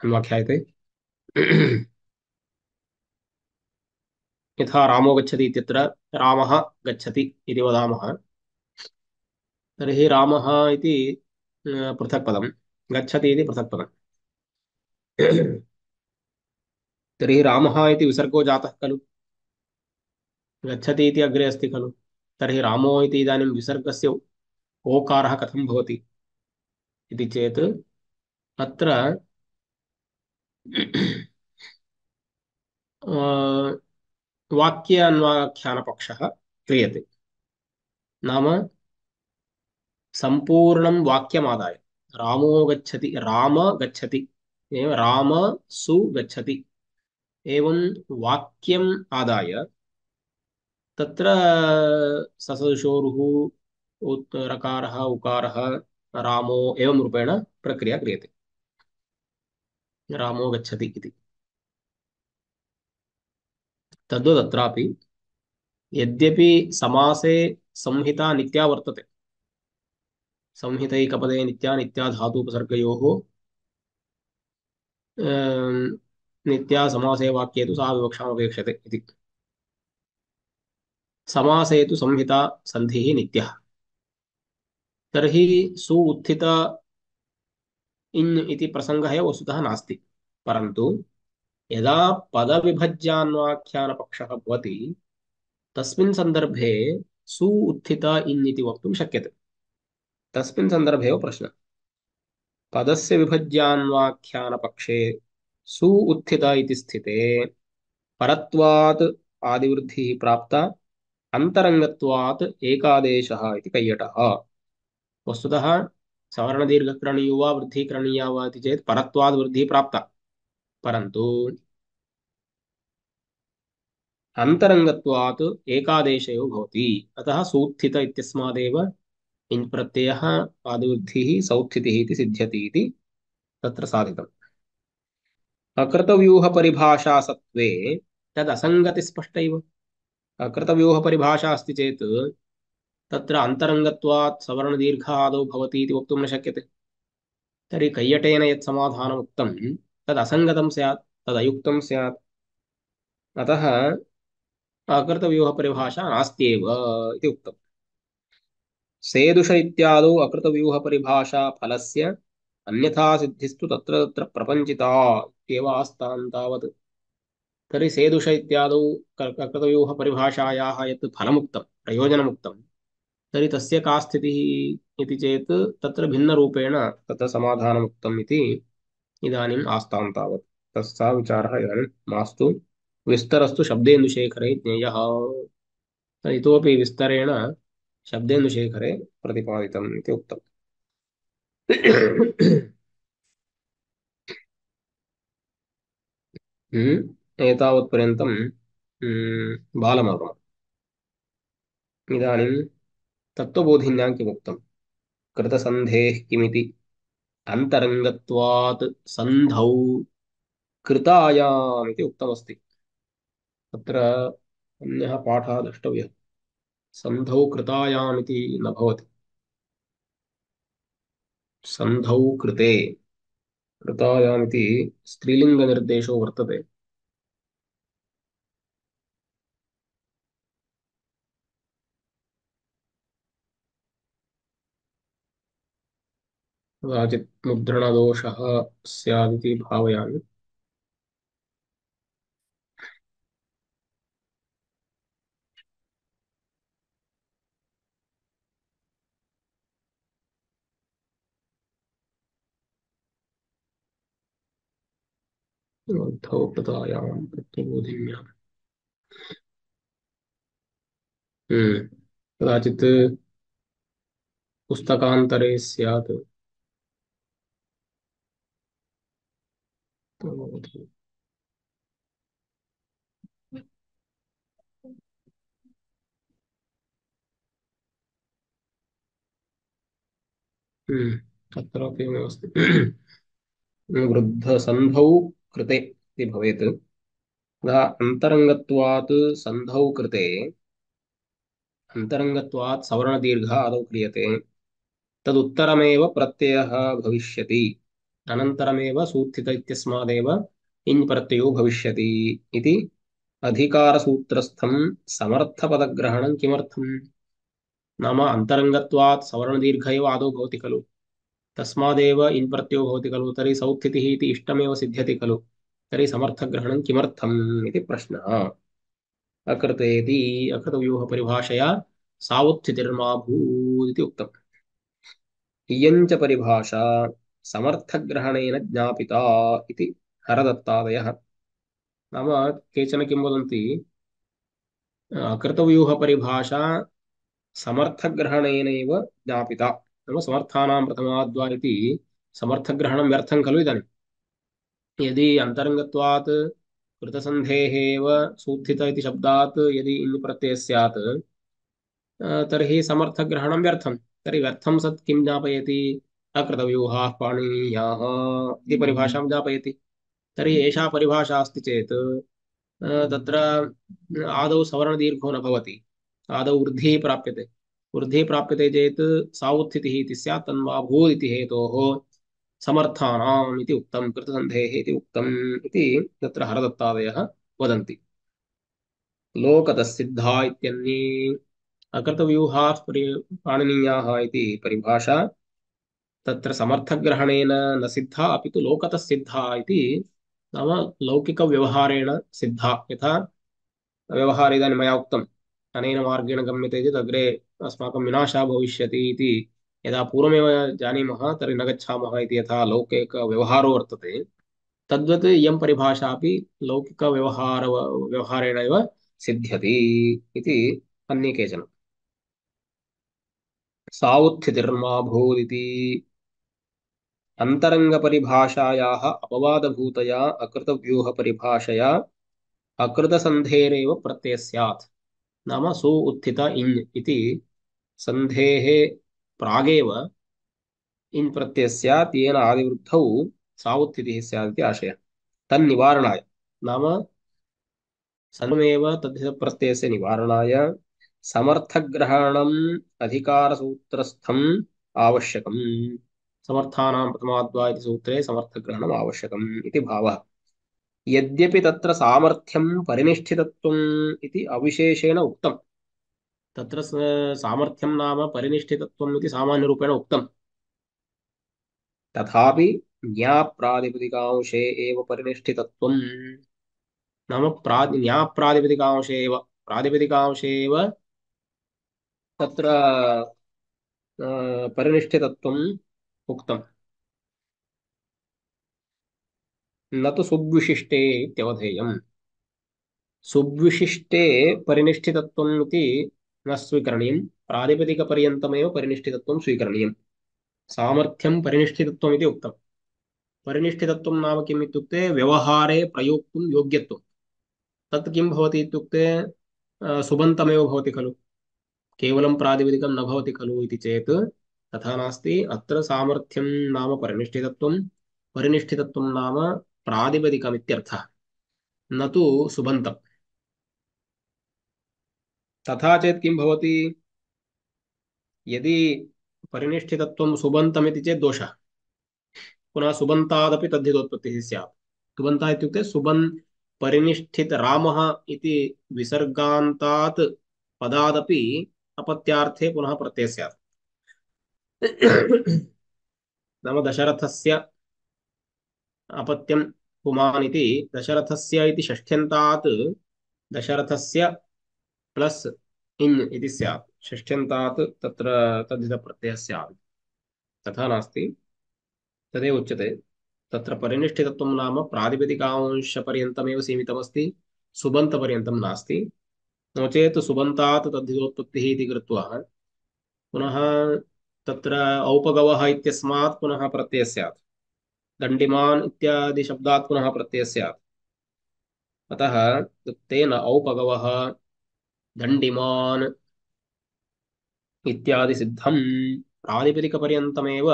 S2: अन्वाख्यायते। यथा रामो गच्छति इत्यत्र रामः गच्छति इति वदामः, तर्हि रामः इति पृथक् पदं, गच्छति इति पृथक् पदम्। तर्हि रामः इति विसर्गो जातः खलु, गच्छति इति अग्रे अस्ति खलु, तर्हि रामो इति इदानीं विसर्गस्य ओकारः कथं भवति इति चेत् अत्र वाक्य अन्वाख्यानपक्षः क्रियते। नाम सम्पूर्णं वाक्यमादाय रामो गच्छति, राम गच्छति एवं राम सु गच्छति एवं वाक्यम् आदाय तत्र ससदुषोरुः रकारः उकारः रामो एवं रूपेण प्रक्रिया क्रियते। रामो गच्छति इति तद्वदत्रापि यद्यपि समासे संहिता नित्या वर्तते, संहितैकपदे नित्या नित्या धातुपसर्गयोः नित्या समासे वाक्ये तु सा विवक्षामपेक्षते इति। समासे तु संहिता सन्धिः नित्यः, तर्हि सु उत्थित इन् इति प्रसङ्गः एव वस्तुतः नास्ति। परन्तु यदा पदविभज्यान्वाख्यानपक्षः भवति तस्मिन् सन्दर्भे सु उत्थित इन् इति वक्तुं शक्यते। तस्मिन् सन्दर्भे एव प्रश्नः। पदस्य विभज्यान्वाख्यानपक्षे सु उत्थित इति स्थिते परत्वात् आदिवृद्धिः प्राप्ता, अन्तरङ्गत्वात् एकादेशः इति कैयटः। वस्तुतः सवर्णदीर्घकरणीयो वा वृद्धिः करणीया वा इति चेत् परत्वाद् वृद्धिः प्राप्ता, परन्तु अन्तरङ्गत्वात् एकादेशयो भवति। अतः सूत्थित इत्यस्मादेव इन् प्रत्ययः आदिवृद्धिः सौत्थितिः इति सिद्ध्यति इति तत्र साधितम्। अकृतव्यूहपरिभाषासत्त्वे तदसङ्गतिस्पष्टैव। अकृतव्यूहपरिभाषा अस्ति चेत् तत्र अन्तरङ्गत्वात् सवर्णदीर्घ आदौ भवति इति वक्तुं न शक्यते। तर्हि कैयटेन यत् समाधानम् उक्तं तद् असङ्गतं स्यात्, तदयुक्तं स्यात्। अतः अकृतव्यूहपरिभाषा नास्त्येव इति उक्तम्। सेदुष इत्यादौ अकृतव्यूहपरिभाषा फलस्य अन्यथा सिद्धिस्तु तत्र तत्र प्रपञ्चिता इत्येव आस्तां तावत्। तर्हि सेदुष इत्यादौ अकृतव्यूहपरिभाषायाः यत् फलमुक्तं, प्रयोजनमुक्तं, तर्हि तस्य का स्थितिः इति चेत् तत्र भिन्नरूपेण तत्र समाधानमुक्तम् इति इदानीम् आस्तां तावत्। तस्सा विचारः इदानीं मास्तु। विस्तरस्तु शब्देन्दुशेखरे ज्ञेयः। इतोपि विस्तरेण शब्देन्दुशेखरे प्रतिपादितम् इति उक्तम्। एतावत्पर्यन्तं बालमर्म। इदानीं तत्त्वबोधिन्यां किमुक्तं, कृतसन्धेः किमिति, अन्तरङ्गत्वात् सन्धौ कृतायाम् इति उक्तमस्ति। तत्र अन्यः पाठः द्रष्टव्यः। सन्धौ कृतायाम् इति न भवति, सन्धौ कृते। कृतायाम् इति स्त्रीलिङ्गनिर्देशो वर्तते। कदाचित् मुद्रणदोषः स्यादिति भावयामि। सन्धौ कृतायां तत्त्वबोधिन्याम्। कदाचित् पुस्तकान्तरे स्यात्। तत्रापि एवमस्ति। वृद्धसन्धौ कृते इति भवेत्। अतः अन्तरङ्गत्वात् सन्धौ कृते अन्तरङ्गत्वात् सवर्णदीर्घ आदौ क्रियते तदुत्तरमेव प्रत्ययः भविष्यति अनन्तरमेव सूत्थित इत्यस्मादेव इञ् प्रत्ययो भविष्यति इति अधिकारसूत्रस्थं समर्थपदग्रहणं किमर्थम्? नाम अन्तरङ्गत्वात् सवर्णदीर्घ एव आदौ भवति खलु, तस्मादेव इन् प्रत्ययो भवति खलु, तर्हि सौत्थितिः इति इष्टमेव सिद्ध्यति खलु, तर्हि समर्थग्रहणं किमर्थम् इति प्रश्नः। अकृतेति अकृतव्यूहपरिभाषया सावुत्थितिर्मा भूत् इति उक्तम्। इयञ्च परिभाषा समर्थग्रहणेन ज्ञापिता इति हरदत्तादयः। नाम केचन किं वदन्ति, अकृतव्यूहपरिभाषा समर्थग्रहणेनैव ज्ञापिता, नाम समर्थानां प्रथमाद्वा इति समर्थग्रहणं व्यर्थं खलु इदानीं। यदि अन्तरङ्गत्वात् कृतसन्धेः एव सूत्थित इति शब्दात् यदि इन् प्रत्ययः स्यात् तर्हि समर्थग्रहणं व्यर्थं। तर्हि व्यर्थं सत् किं ज्ञापयति? अकृतव्यूहाः पाणिनीयाः इति परिभाषां ज्ञापयति। तर्हि एषा परिभाषा अस्ति चेत् तत्र आदौ सवर्णदीर्घो न भवति, आदौ वृद्धिः प्राप्यते। वृद्धिः प्राप्यते चेत् सावुत्थितिः इति स्यात्, तन्वा भूत् इति हेतोः समर्थानाम् इति उक्तं, कृतसन्धेः इति उक्तम् इति तत्र हरदत्तादयः वदन्ति। लोकतसिद्धा इत्यन्ये अकृतव्यूहाः पाणिनीयाः इति परिभाषा तत्र समर्थग्रहणेन न सिद्धा, अपि तु लोकतः सिद्धा इति, नाम लौकिकव्यवहारेण सिद्धा। यथा व्यवहारे इदानीं मया उक्तम्, अनेन मार्गेण गम्यते चेत् अग्रे अस्माकं विनाशः भविष्यति इति यदा पूर्वमेव जानीमः तर्हि न गच्छामः इति यथा लौकिकव्यवहारो वर्तते, तद्वत् इयं परिभाषा अपि व्यवहारेण एव सिद्ध्यति इति अन्ये केचन। सावुत्थितिर्मा भूदिति अन्तरङ्गपरिभाषायाः अपवादभूतया अकृतव्यूहपरिभाषया अकृतसन्धेरेव प्रत्ययः स्यात्। नाम सु उत्थित इञ् इति सन्धेः प्रागेव इन् प्रत्ययः स्यात्, येन आदिवृद्धौ सावुत्थितिः स्यात् इति आशयः। तन्निवारणाय, नाम सर्वमेव तद्धितप्रत्ययस्य निवारणाय समर्थग्रहणम् अधिकारसूत्रस्थम् आवश्यकम्। समर्थानां प्रथमाद्वा इति सूत्रे समर्थग्रहणम् आवश्यकम् इति भावः। यद्यपि तत्र सामर्थ्यं परिनिष्ठितत्वम् इति अविशेषेण उक्तम्, तत्र सामर्थ्यं नाम परिनिष्ठितत्वम् इति सामान्यरूपेण उक्तम्, तथापि ज्ञाप्रातिपदिकांशे एव परिनिष्ठितत्वम्, नाम ज्ञाप्रातिपदिकांशे एव, प्रातिपदिकांशे एव तत्र परिनिष्ठितत्वम् उक्तम्, न तु सुविशिष्टे इत्यवधेयम्। सुविशिष्टे परिनिष्ठितत्वम् इति न स्वीकरणीयम्, प्रातिपदिकपर्यन्तमेव परिनिष्ठितत्वं स्वीकरणीयम्। सामर्थ्यं परिनिष्ठितत्वम् इति उक्तम्। परिनिष्ठितत्वं नाम किम् इत्युक्ते व्यवहारे प्रयोक्तुं योग्यत्वं। तत् किं भवति इत्युक्ते सुबन्तमेव भवति खलु, केवलं प्रातिपदिकं न भवति खलु इति चेत् तथा नास्ति। अत्र सामर्थ्यं नाम परिनिष्ठितत्वं, परिनिष्ठितत्वं नाम प्रातिपदिकमित्यर्थः, न तु सुबन्तम्। तथा चेत् किं भवति, यदि परिनिष्ठितत्वं सुबन्तमिति चेत् दोषः। पुनः सुबन्तादपि तद्धितोत्पत्तिः स्यात्। सुबन्तः इत्युक्ते परिनिष्ठित रामः इति विसर्गान्तात् पदादपि अपत्यार्थे पुनः प्रत्ययः स्यात्। नाम दशरथस्य अपत्यं पुमान् इति, दशरथस्य इति षष्ठ्यन्तात् दशरथस्य प्लस् इन् इति स्यात्, षष्ठ्यन्तात् तत्र तद्धितप्रत्ययः स्यात्। तथा नास्ति, तदेव उच्यते। तत्र परिनिष्ठितत्वं नाम प्रातिपदिकांशपर्यन्तमेव सीमितमस्ति, सुबन्तपर्यन्तं नास्ति। नो चेत् सुबन्तात् तद्धितोत्पत्तिः इति कृत्वा पुनः तत्र औपगवः इत्यस्मात् पुनः प्रत्ययः स्यात्, दण्डिमान् इत्यादि शब्दात् पुनः प्रत्ययः स्यात्। अतः तेन औपगवः दण्डिमान् इत्यादि सिद्धं, प्रातिपदिकपर्यन्तमेव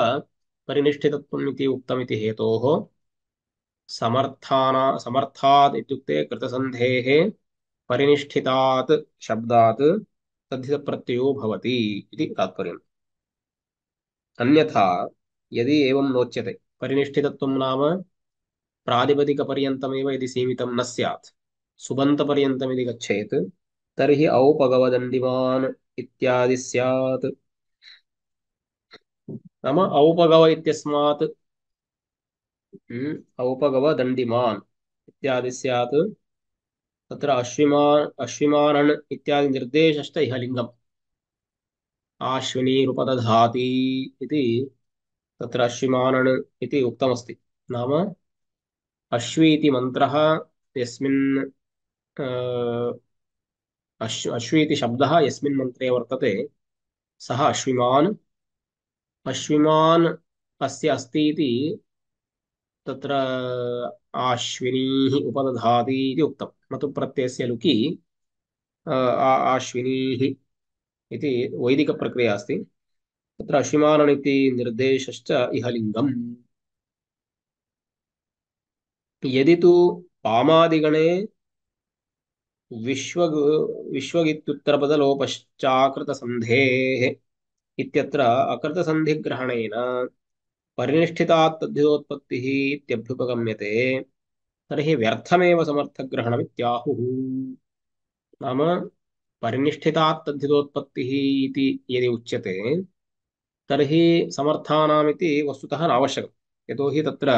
S2: परिनिष्ठितत्वम् इति उक्तमिति हेतोः समर्थात् इत्युक्ते कृतसन्धेः परिनिष्ठितात् शब्दात् तद्धितप्रत्ययो भवति इति तात्पर्यम्। अन्यथा यदि एवं नोच्यते, परिनिष्ठितत्वं नाम प्रातिपदिकपर्यन्तमेव यदि सीमितं न स्यात्, सुबन्तपर्यन्तम् यदि गच्छेत्, तर्हि औपगवदण्डिमान् इत्यादि स्यात्। नाम औपगव इत्यस्मात् औपगवदण्डिमान् इत्यादि स्यात्। तत्र अश्विमानन् इत्यादि निर्देशश्च इह लिङ्गम् आश्विनीरुपदधाति इति तत्र अश्विमानन् इति उक्तमस्ति। नाम अश्वी इति मन्त्रः यस्मिन् अश्वी इति शब्दः यस्मिन् मन्त्रे वर्तते सः अश्विमान्। अश्विमान् अस्य अस्ति इति तत्र आश्विनीः उपदधाति इति उक्तं। न तु प्रत्ययस्य लुकि आश्विनीः इति वैदिकप्रक्रिया अस्ति। तत्र अश्विमानन् इति निर्देशश्च इह लिङ्गम्। यदि तु पामादिगणे विश्वगित्युत्तरपदलोपश्चाकृतसन्धेः इत्यत्र अकृतसन्धिग्रहणेन परिनिष्ठितात् तद्धितोत्पत्तिः इत्यभ्युपगम्यते, तर्हि व्यर्थमेव समर्थग्रहणमित्याहुः। नाम परिनिष्ठितात् तद्धितोत्पत्तिः इति यदि उच्यते, तर्हि समर्थानामिति वस्तुतः नावश्यकम्। यतोहि तत्र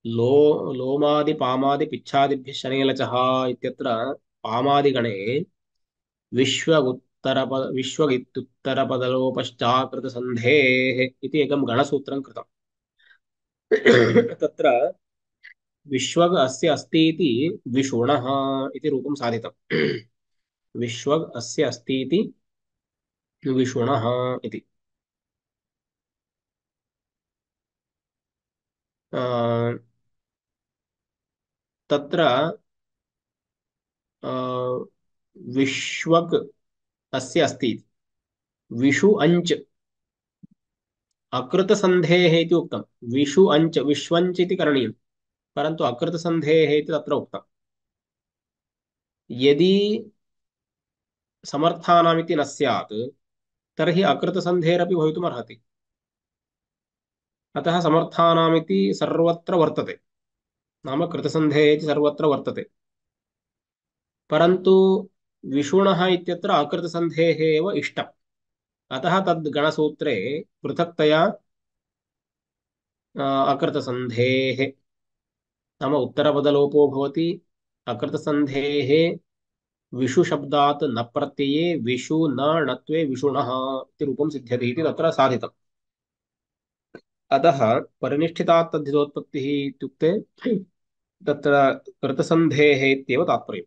S2: लो लोमादि पामादि पिच्छादिभ्यः शनेलचः इत्यत्र पामादिगणे विश्वगित्युत्तरपदलोपश्चाकृतसन्धेः इति एकं गणसूत्रं कृतम्। तत्र विश्वग् अस्य अस्ति इति विषुणः इति रूपं साधितम्। विश्वग् अस्य अस्ति इति विषुणः इति। तत्र विश्वग् अस्य अस्ति इति विषु अञ्च अकृतसन्धेः इति उक्तं। विषु अञ्च विश्वञ्च इति करणीयं, परन्तु अकृतसन्धेः इति तत्र उक्तं। यदि समर्थानामिति न स्यात्, तर्हि अकृतसन्धेरपि भवितुमर्हति। अतः समर्थानामिति सर्वत्र वर्तते, नाम कृतसन्धेः इति सर्वत्र वर्तते, परन्तु विषुणः इत्यत्र अकृतसन्धेः एव इष्टम्। अतः तद् गणसूत्रे पृथक्तया अकृतसन्धेः नाम उत्तरपदलोपो भवति। अकृतसन्धेः विषु शब्दात् न प्रत्यये विषु न णत्वे विषुणः इति रूपं सिद्ध्यति इति तत्र साधितम्। अतः परिनिष्ठितात् तद्धितोत्पत्तिः इत्युक्ते तत्र कृतसन्धेः इत्येव तात्पर्यम्।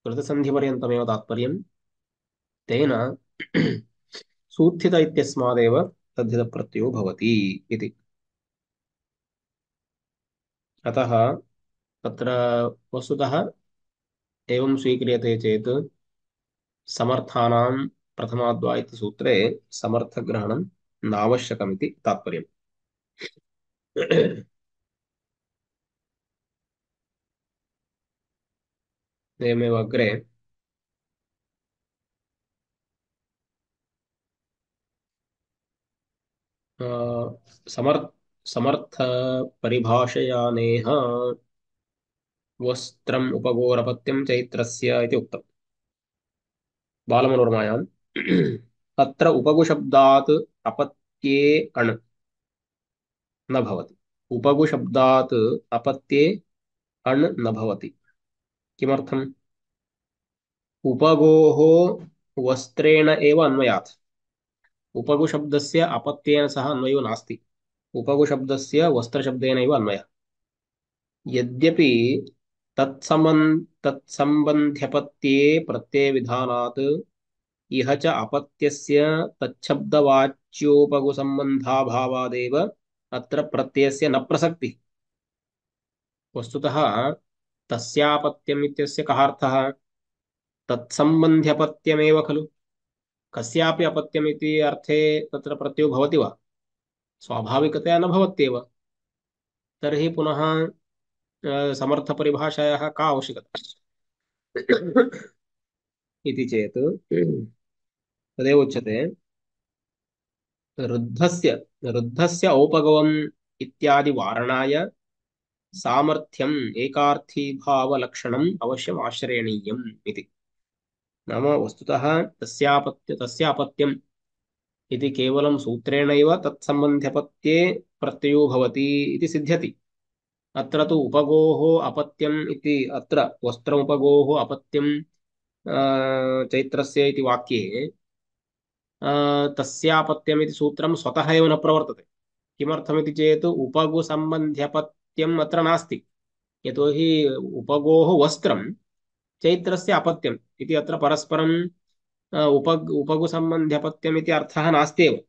S2: कृतसन्धिपर्यन्तमेव तात्पर्यम्। तेन सूत्थित इत्यस्मादेव तद्धितप्रत्ययो भवति इति। अतः तत्र वस्तुतः एवं स्वीक्रियते चेत् समर्थानां प्रथमाद्वा इति सूत्रे समर्थग्रहणं नावश्यकमिति तात्पर्यम्। एवमेव अग्रे समर्थ समर्थ परिभाषयानेह वस्त्रम् उपगोरपत्यं चैत्रस्य इति उक्तम् बालमनोरमायाम्। अत्र उपगुशब्दात् अपत्ये अण् न भवति। उपगुशब्दात् अपत्ये अण् न भवति। किमर्थम्? उपगोः वस्त्रेण एव अन्वयात्। उपगुशब्दस्य अपत्येन सह अन्वयो नास्ति। उपगुशब्दस्य वस्त्रशब्देनैव अन्वयः। यद्यपि तत्सम्बन्ध्यपत्ये प्रत्ययविधानात् इह च अपत्यस्य तच्छब्दवाच्योपगुसम्बन्धाभावादेव अत्र प्रत्ययस्य न प्रसक्तिः। वस्तुतः तस्यापत्यम् इत्यस्य कः अर्थः? तत्सम्बन्ध्यपत्यमेव खलु। कस्यापि अपत्यमिति अर्थे तत्र प्रत्ययो भवति वा? स्वाभाविकतया न भवत्येव। तर्हि पुनः समर्थपरिभाषायाः का आवश्यकता इति चेत् तदेव उच्यते, रुद्धस्य रुद्धस्य औपगवम् इत्यादि वारणाय सामर्थ्यम् एकार्थीभावलक्षणम् अवश्यम् आश्रयणीयम् इति। नाम वस्तुतः तस्य अपत्यम् इति केवलं सूत्रेणैव तत्सम्बन्ध्यपत्ये प्रत्ययो भवति इति सिद्ध्यति। अत्र तु उपगोः अपत्यम् इति, अत्र वस्त्रमुपगोः अपत्यम् चैत्रस्य इति वाक्ये तस्यापत्यमिति सूत्रं स्वतः एव न प्रवर्तते। किमर्थमिति चेत् उपगुसम्बन्ध्यपत्यम् अत्र नास्ति। यतोहि उपगोः वस्त्रं चैत्रस्य अपत्यम् इति अत्र परस्परं उपगुसम्बन्ध्यपत्यम् इति अर्थः नास्त्येव।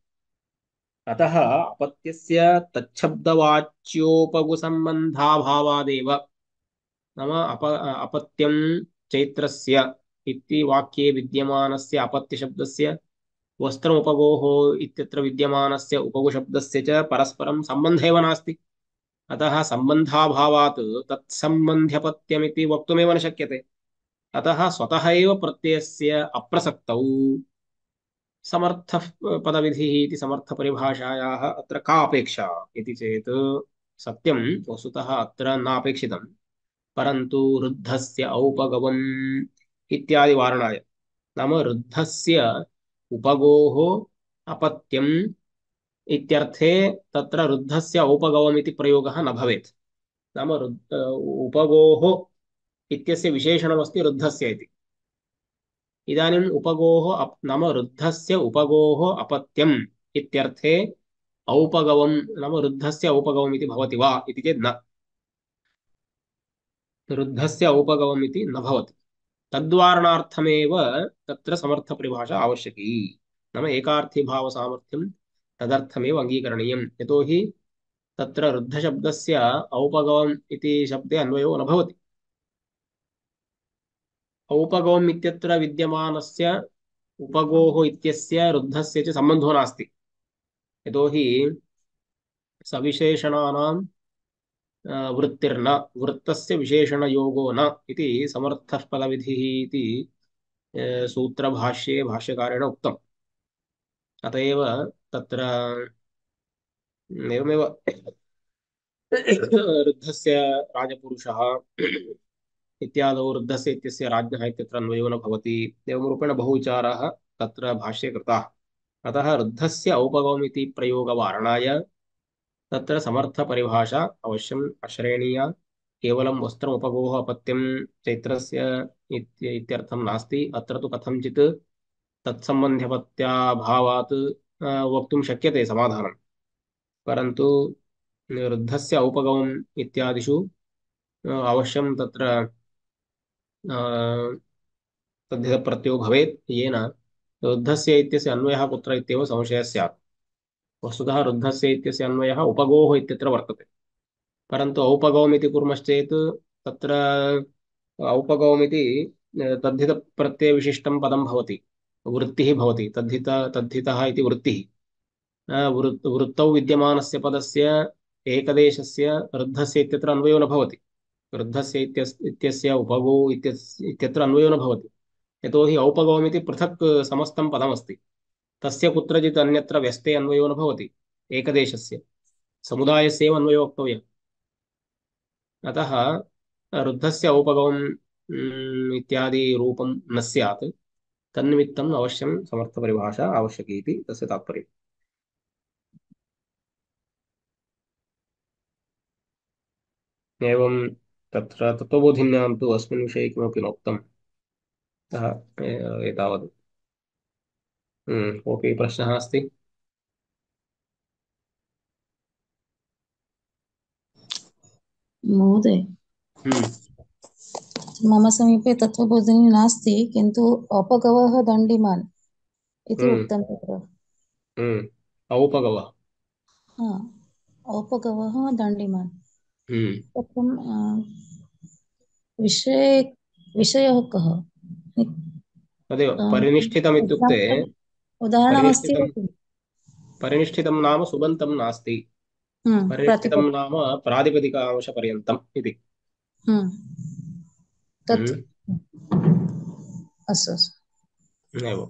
S2: अतः अपत्यस्य तच्छब्दवाच्योपगुसम्बन्धाभावादेव, नाम अपत्यं चैत्रस्य इति वाक्ये विद्यमानस्य अपत्यशब्दस्य वस्त्रमुपगोः इत्यत्र विद्यमानस्य उपगुशब्दस्य च परस्परं सम्बन्धः एव नास्ति। अतः सम्बन्धाभावात् तत्सम्बन्ध्यपत्यमिति वक्तुमेव न शक्यते। अतः स्वतः एव प्रत्ययस्य अप्रसक्तौ समर्थः पदविधिः इति समर्थपरिभाषायाः अत्र का अपेक्षा इति चेत्, सत्यं वस्तुतः अत्र नापेक्षितं, परन्तु रुद्धस्य औपगवम् इत्यादि वारणाय, नाम रुद्धस्य उपगोः अपत्यम् इत्यर्थे तत्र रुद्धस्य औपगवम् इति प्रयोगः न भवेत्। नाम उपगोः इत्यस्य विशेषणमस्ति रुद्धस्य इति। इदानीम् उपगोः नाम रुद्धस्य उपगोः अपत्यम् इत्यर्थे औपगवम् नाम रुद्धस्य औपगवम् इति भवति वा इति चेत् न, रुद्धस्य औपगवम् इति न भवति। तद्वारणार्थमेव तत्र समर्थपरिभाषा आवश्यकी। नाम एकार्थीभावसामर्थ्यं तदर्थमेव अङ्गीकरणीयं। यतोहि तत्र रुद्धशब्दस्य औपगवम् इति शब्दे अन्वयो न भवति। औपगवम् इत्यत्र विद्यमानस्य उपगोः इत्यस्य रुद्धस्य च सम्बन्धो नास्ति। यतोहि सविशेषणानां वृत्तिर्न, वृत्तस्य विशेषणयोगो न इति समर्थः फलविधिः इति सूत्रभाष्ये भाष्यकारेण उक्तम्। अत एव तत्र एवमेव रुद्धस्य राजपुरुषः इत्यादौ रुद्धस्य इत्यस्य राज्ञः इत्यत्र अन्वयो न भवति। एवं रूपेण बहुविचाराः तत्र भाष्ये कृताः। अतः रुद्धस्य औपगवमिति प्रयोगवारणाय तत्र समर्थपरिभाषा अवश्यम् आश्रयणीया। केवलं वस्त्रमुपगोः अपत्यं चैत्रस्य इत्यर्थं नास्ति। अत्र तु कथञ्चित् तत्सम्बन्ध्यपत्याभावात् वक्तुं शक्यते समाधानं, परन्तु रुद्धस्य औपगमम् इत्यादिषु अवश्यं तत्र तद्धितप्रत्ययो भवेत्, येन रुद्धस्य इत्यस्य अन्वयः कुत्र इत्येव संशयः स्यात्। वस्तुतः रुद्धस्य इत्यस्य अन्वयः उपगोः इत्यत्र वर्तते, परन्तु औपगौमिति कुर्मश्चेत् तत्र औपगौमिति तद्धितप्रत्ययविशिष्टं पदं भवति, वृत्तिः भवति, तद्धितः इति वृत्तिः। वृत्तौ विद्यमानस्य पदस्य एकदेशस्य रुद्धस्य इत्यत्र अन्वयो न भवति। रुद्धस्य इत्यस्य उपगौ इत्यत्र अन्वयो न भवति। यतोहि औपगौमिति पृथक् समस्तं पदमस्ति। तस्य कुत्रचित् अन्यत्र व्यस्ते अन्वयो न भवति। एकदेशस्य समुदायस्य एव अन्वयो वक्तव्यः। अतः रुद्धस्य औपगमम् इत्यादि रूपं न स्यात्। तन्निमित्तम् अवश्यं समर्थपरिभाषा आवश्यकी इति तस्य तात्पर्यम्। एवं तत्र तत्त्वबोधिन्यां तु अस्मिन् विषये किमपि नोक्तम्। अतः एतावत्। कोऽपि प्रश्नः अस्ति?
S3: महोदय,
S2: हम्म
S3: मम समीपे तत्त्वबोधिनी नास्ति, किन्तु अपगवः दण्डिमान् इति
S2: हम्म
S3: उक्तं तत्र।
S2: औपगवः।
S3: हा, औपगवः दण्डिमान्।
S2: हम्म
S3: तत्र विषये विषयः कः?
S2: तदेव परिनिष्ठितम् इत्युक्ते,
S3: उदाहरणमस्ति वा
S2: परिनिष्ठितं
S3: किम्?
S2: परिनिष्ठितं नाम सुबन्तं नास्ति। परिष्ठितं नाम प्रातिपदिकांशपर्यन्तम् इति।
S3: तत् अस्तु अस्तु
S2: एवं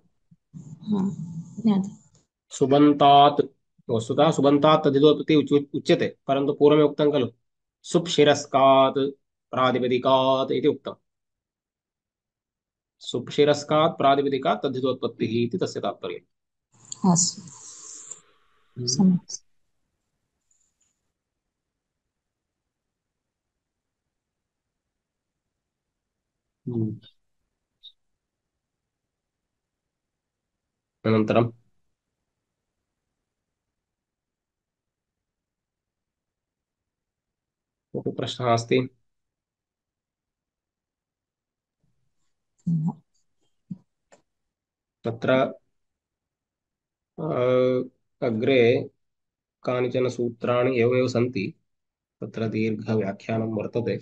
S3: ज्ञातं।
S2: सुबन्तात् वस्तुतः सुबन्तात् तद्धितोत्पत्ति उच्यते, परन्तु पूर्वमे उक्तं खलु सुप्शिरस्कात् प्रातिपदिकात् इति उक्तम्। सुप्शिरस्कात् प्रातिपदिकात् तद्धितोत्पत्तिः इति तस्य तात्पर्यम्।
S3: अस्तु सम्यक्।
S2: अनन्तरं कोऽपि प्रश्नः अस्ति? तत्र अग्रे कानिचन सूत्राणि एवमेव सन्ति, तत्र दीर्घव्याख्यानं वर्तते।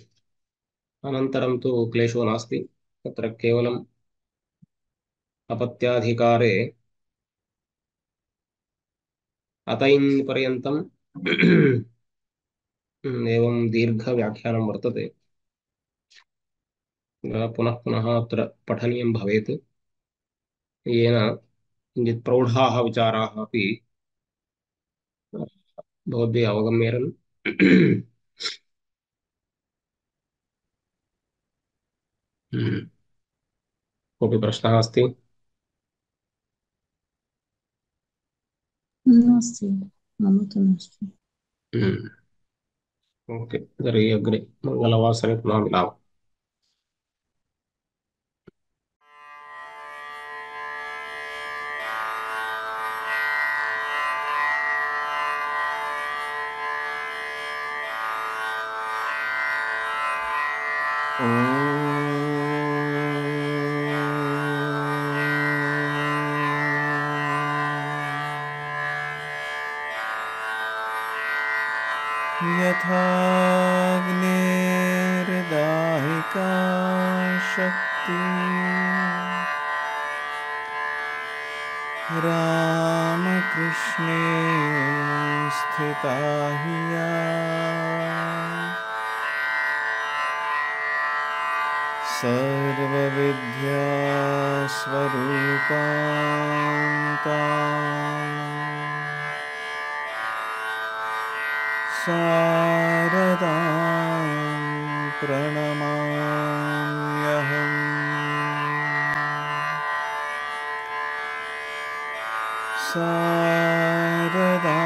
S2: अनन्तरं तु क्लेशो नास्ति, तत्र केवलम् अपत्याधिकारे अतैन् पर्यन्तम् एवं दीर्घव्याख्यानं वर्तते। पुनः पुनः अत्र पठनीयं भवेत्, येन किञ्चित् प्रौढाः विचाराः अपि भवद्भिः अवगम्येरन्। कोऽपि प्रश्नः अस्ति?
S3: नास्ति, मम तु नास्ति।
S2: ओके, तर्हि अग्रे मङ्गलवासरे पुनः मिलामः।
S1: यथाग्निर्दाहिका शक्ति रामकृष्णे स्थिता हि या सर्वविद्यास्वरूपां तां शारदां प्रणमाम्यहम्। शारदा